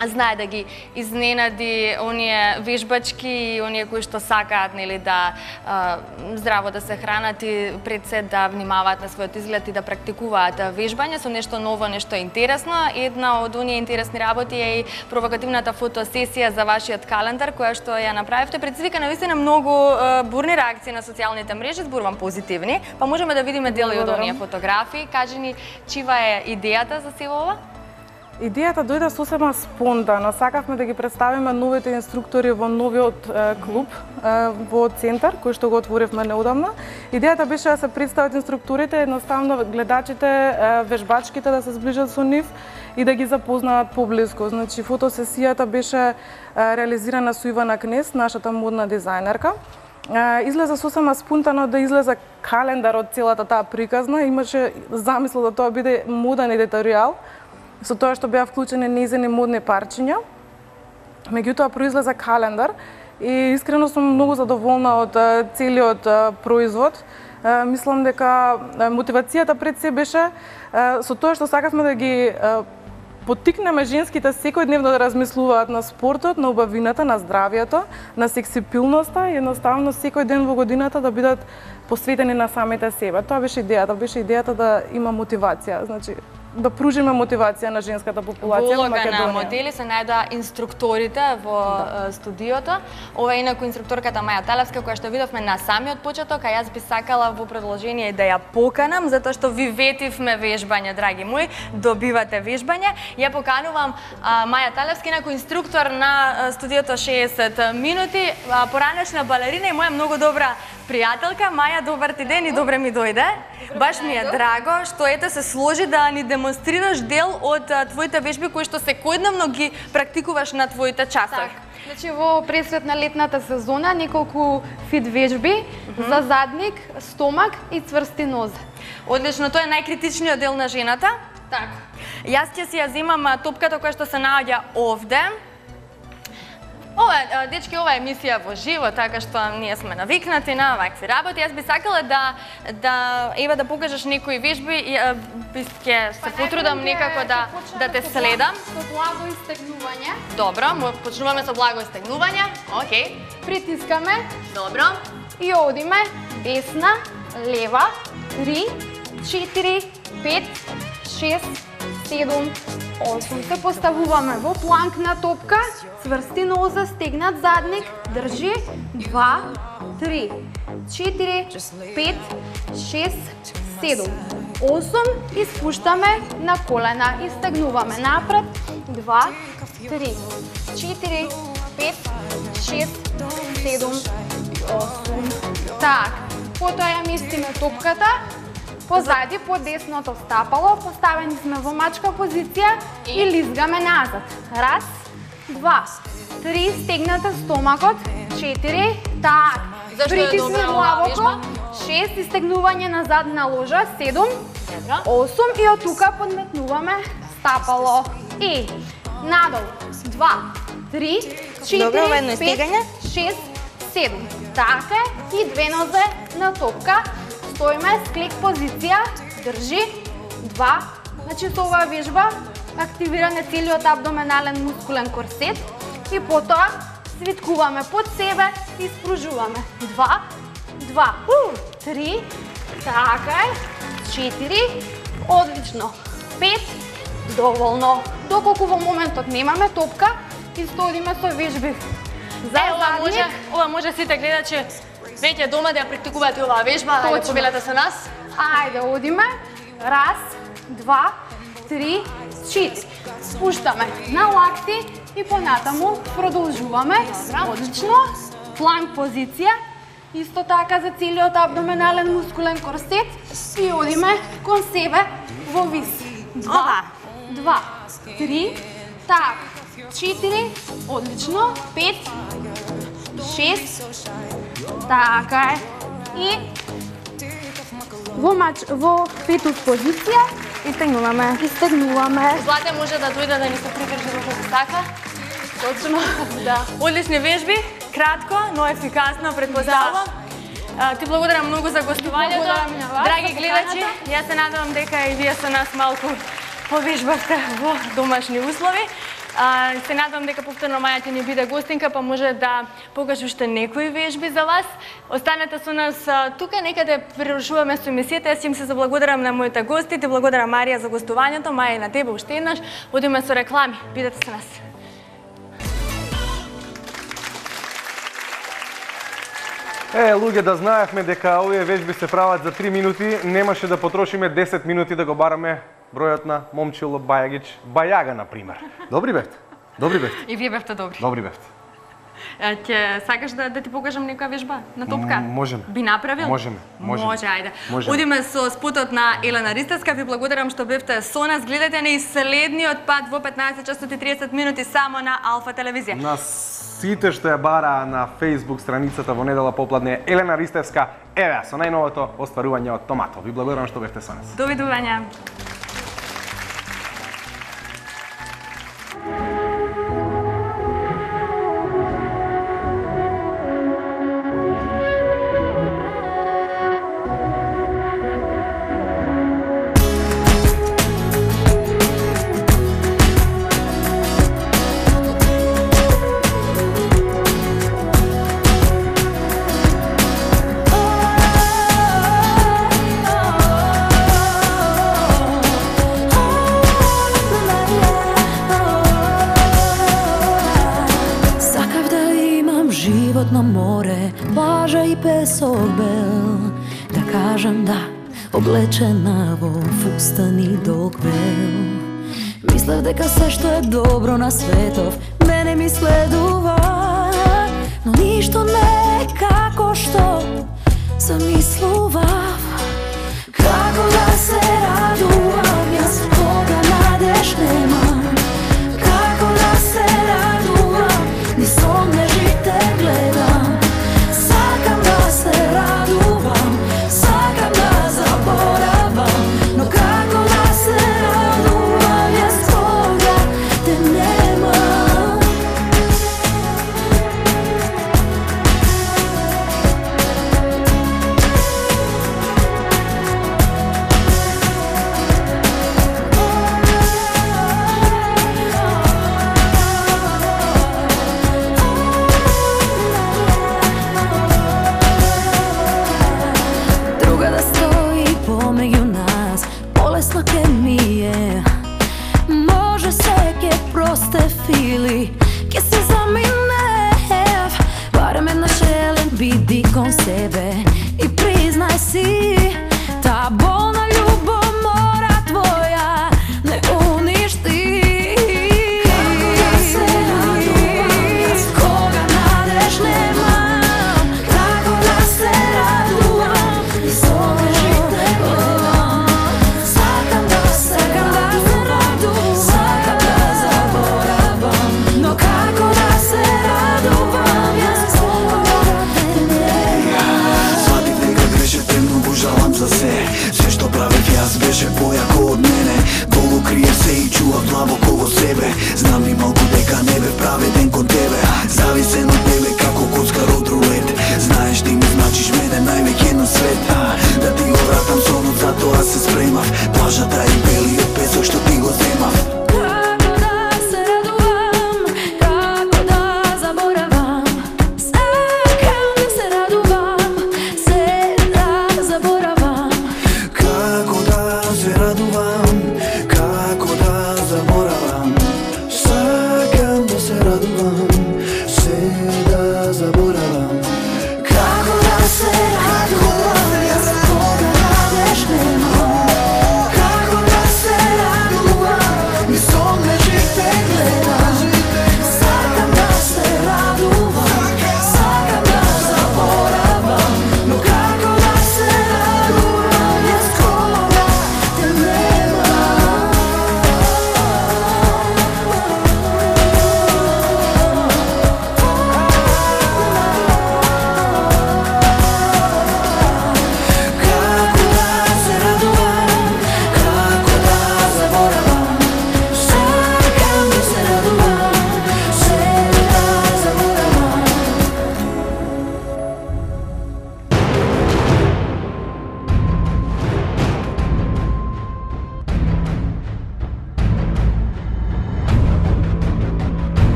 знае да ги изненади оние вежбачки и оние кои што сакаат нели да здраво да се хранат и пред се да внимаваат на својот изглед и да практикуваат вежбање со нешто ново, нешто интересно. Една од оние интересни работи е и провокативната фотосесија за вашиот календар која што ја направивте. Предизвика навистина многу бурни реакции на социјалните мрежи, зборувам позитивни, па можеме да видиме дели од оние фотографии. Кажи ни, чива е идејата за сево ова? Идејата дојде сосема спонтано. Сакавме да ги представиме новите инструктори во новиот клуб во центар, кој што го отворивме неодамна. Идејата беше да се представат инструкторите, едноставно гледачите, вежбачките да се зближат со нив и да ги запознаат поблиску. Значи, фотосесијата беше реализирана со Ивана Кнес, нашата модна дизајнерка. излезе сосема спонтано да излезе календар од целата таа приказна. Имаше замисла да тоа биде моден едиторијал, со тоа што беа вклучени нејзини модни парчиња. Меѓутоа произлезе календар и искрено сум многу задоволна од целиот производ. Мислам дека мотивацијата пред се беше со тоа што сакавме да ги поттикнеме женските секојдневно да размислуваат на спортот, на убавината, на здравието, на сексипилноста и едноставно секој ден во годината да бидат посветени на самите себе. Тоа беше идејата да има мотивација, значи да пружиме мотивација на женската популација во Македонија. Во улога на модели се најдоа инструкторите во студиото. Ова е инаку инструкторката Маја Талевска, која што видовме на самиот почеток, а јас би сакала во продолжение да ја поканам, затоа што ви ветивме вежбање, драги мои, добивате вежбање. Ја поканувам Маја Талевска, инаку инструктор на студиото 60 минути, поранешна балерина и моја многу добра пријателка. Маја, добар ти ден и добре ми дојде. Баш ми е драго што ете се сложи да ни демонстрираш дел од твоите вежби кои што секојдневно ги практикуваш на твоите часови. Значи во пресред на летната сезона неколку фит вежби за задник, стомак и цврсти нозе. Одлично, тоа е најкритичниот дел на жената. Така. Јас ќе си ја земам топката која што се наоѓа овде. Ова, дечки, ова е емисија во живо, така што ние сме навикнати на вакви работи. Јас би сакала да покажеш некои вежби и ќе се потрудам некако да те следам. Со благо истегнување. Добро, почнуваме со благо истегнување. Океј. Притискаме. Добро. И одиме десна, лева, 3, 4, 5, 6, 7, 8. Се поставуваме во планкна топка, цврсти нозе, стегнат задник, држи, 2, 3, 4, 5, 6, 7, 8 и спуштаме на колена и стегнуваме напред, 2, 3, 4, 5, 6, 7, 8. Так, потоа ја местиме топката, позади, по десното стапало, поставени сме во мачка позиција и лизгаме назад. Раз, 2, 3, стегната стомакот, 4, так, притисни главоко, 6, истегнување назад на ложа, 7, 8 и од тука подметнуваме стапало. И надолу, 2, 3, 4, 5, 6, 7. Така и две нозе на топка. Стоиме с клик позиција, држи, 2. Значи со оваа вежба активираме целиот абдоменален мускулен корсет и потоа свиткуваме под себе и спружуваме. 2, 3, така е, 4, одлично, 5, доволно. Доколку во моментот немаме топка и стодиме со вежби. Ова може сите гледачи веќе дома да ја практикувате оваа вежба, ајде побелете со нас. Ајде, одиме. Раз, 2, 3, 4. Спуштаме на лакти и понатаму продолжуваме. Одлично. Планк позиција. Исто така за целиот абдоменален мускулен корсет и одиме кон себе во вис. 2, 3, так, 4, одлично, 5, 6, така е. И во фетус позиција истегнуваме. Злате може да дојде да ни се прикажи доколку се сака. Точно. Да. Одлични вежби, кратко, но ефикасно, предпоставувам. Ти благодарам многу за гостувањето. Драги гледачи, јас се надевам дека и вие со нас малку повежбавте во домашни услови. Се надевам дека повторно Маја ќе ни биде гостинка, па може да покаже уште некои вежби за вас. Останете со нас тука, некаде прерушуваме со емисијата. Јас им се заблагодарам на моите гости, ти благодарам Марија за гостувањето, Маја и на тебе уште еднаш. Одиме со реклами, бидете со нас. Луѓе, да знаевме дека овие вежби се прават за 3 минути, немаше да потрошиме 10 минути да го бараме бројот на Момчило Бајагич, Бајага, например. Добри бевте? И вие бевте добри. Добри бевте. Ќе сакаш да ти покажам некоја вежба на топка? Можеме. Би направил? Можеме. Може, ајде. Можеме. Одиме со спотот на Елена Ристевска. Ви благодарам што бевте со нас. Гледате ни следниот пат во 15 часот и 30 минути само на Алфа телевизија. На сите што ја бара на Facebook страницата во недела попладне Елена Ристевска, еве со најновото остварување од Томато. Ви благодарам што бевте со нас. Довидување. На море, плажа и песок бел, да кажам да, облечена во фустан и долг бел. Мислев дека се што е добро на светов мене ми следува, но ништо не е како што замислував. Како да се радувам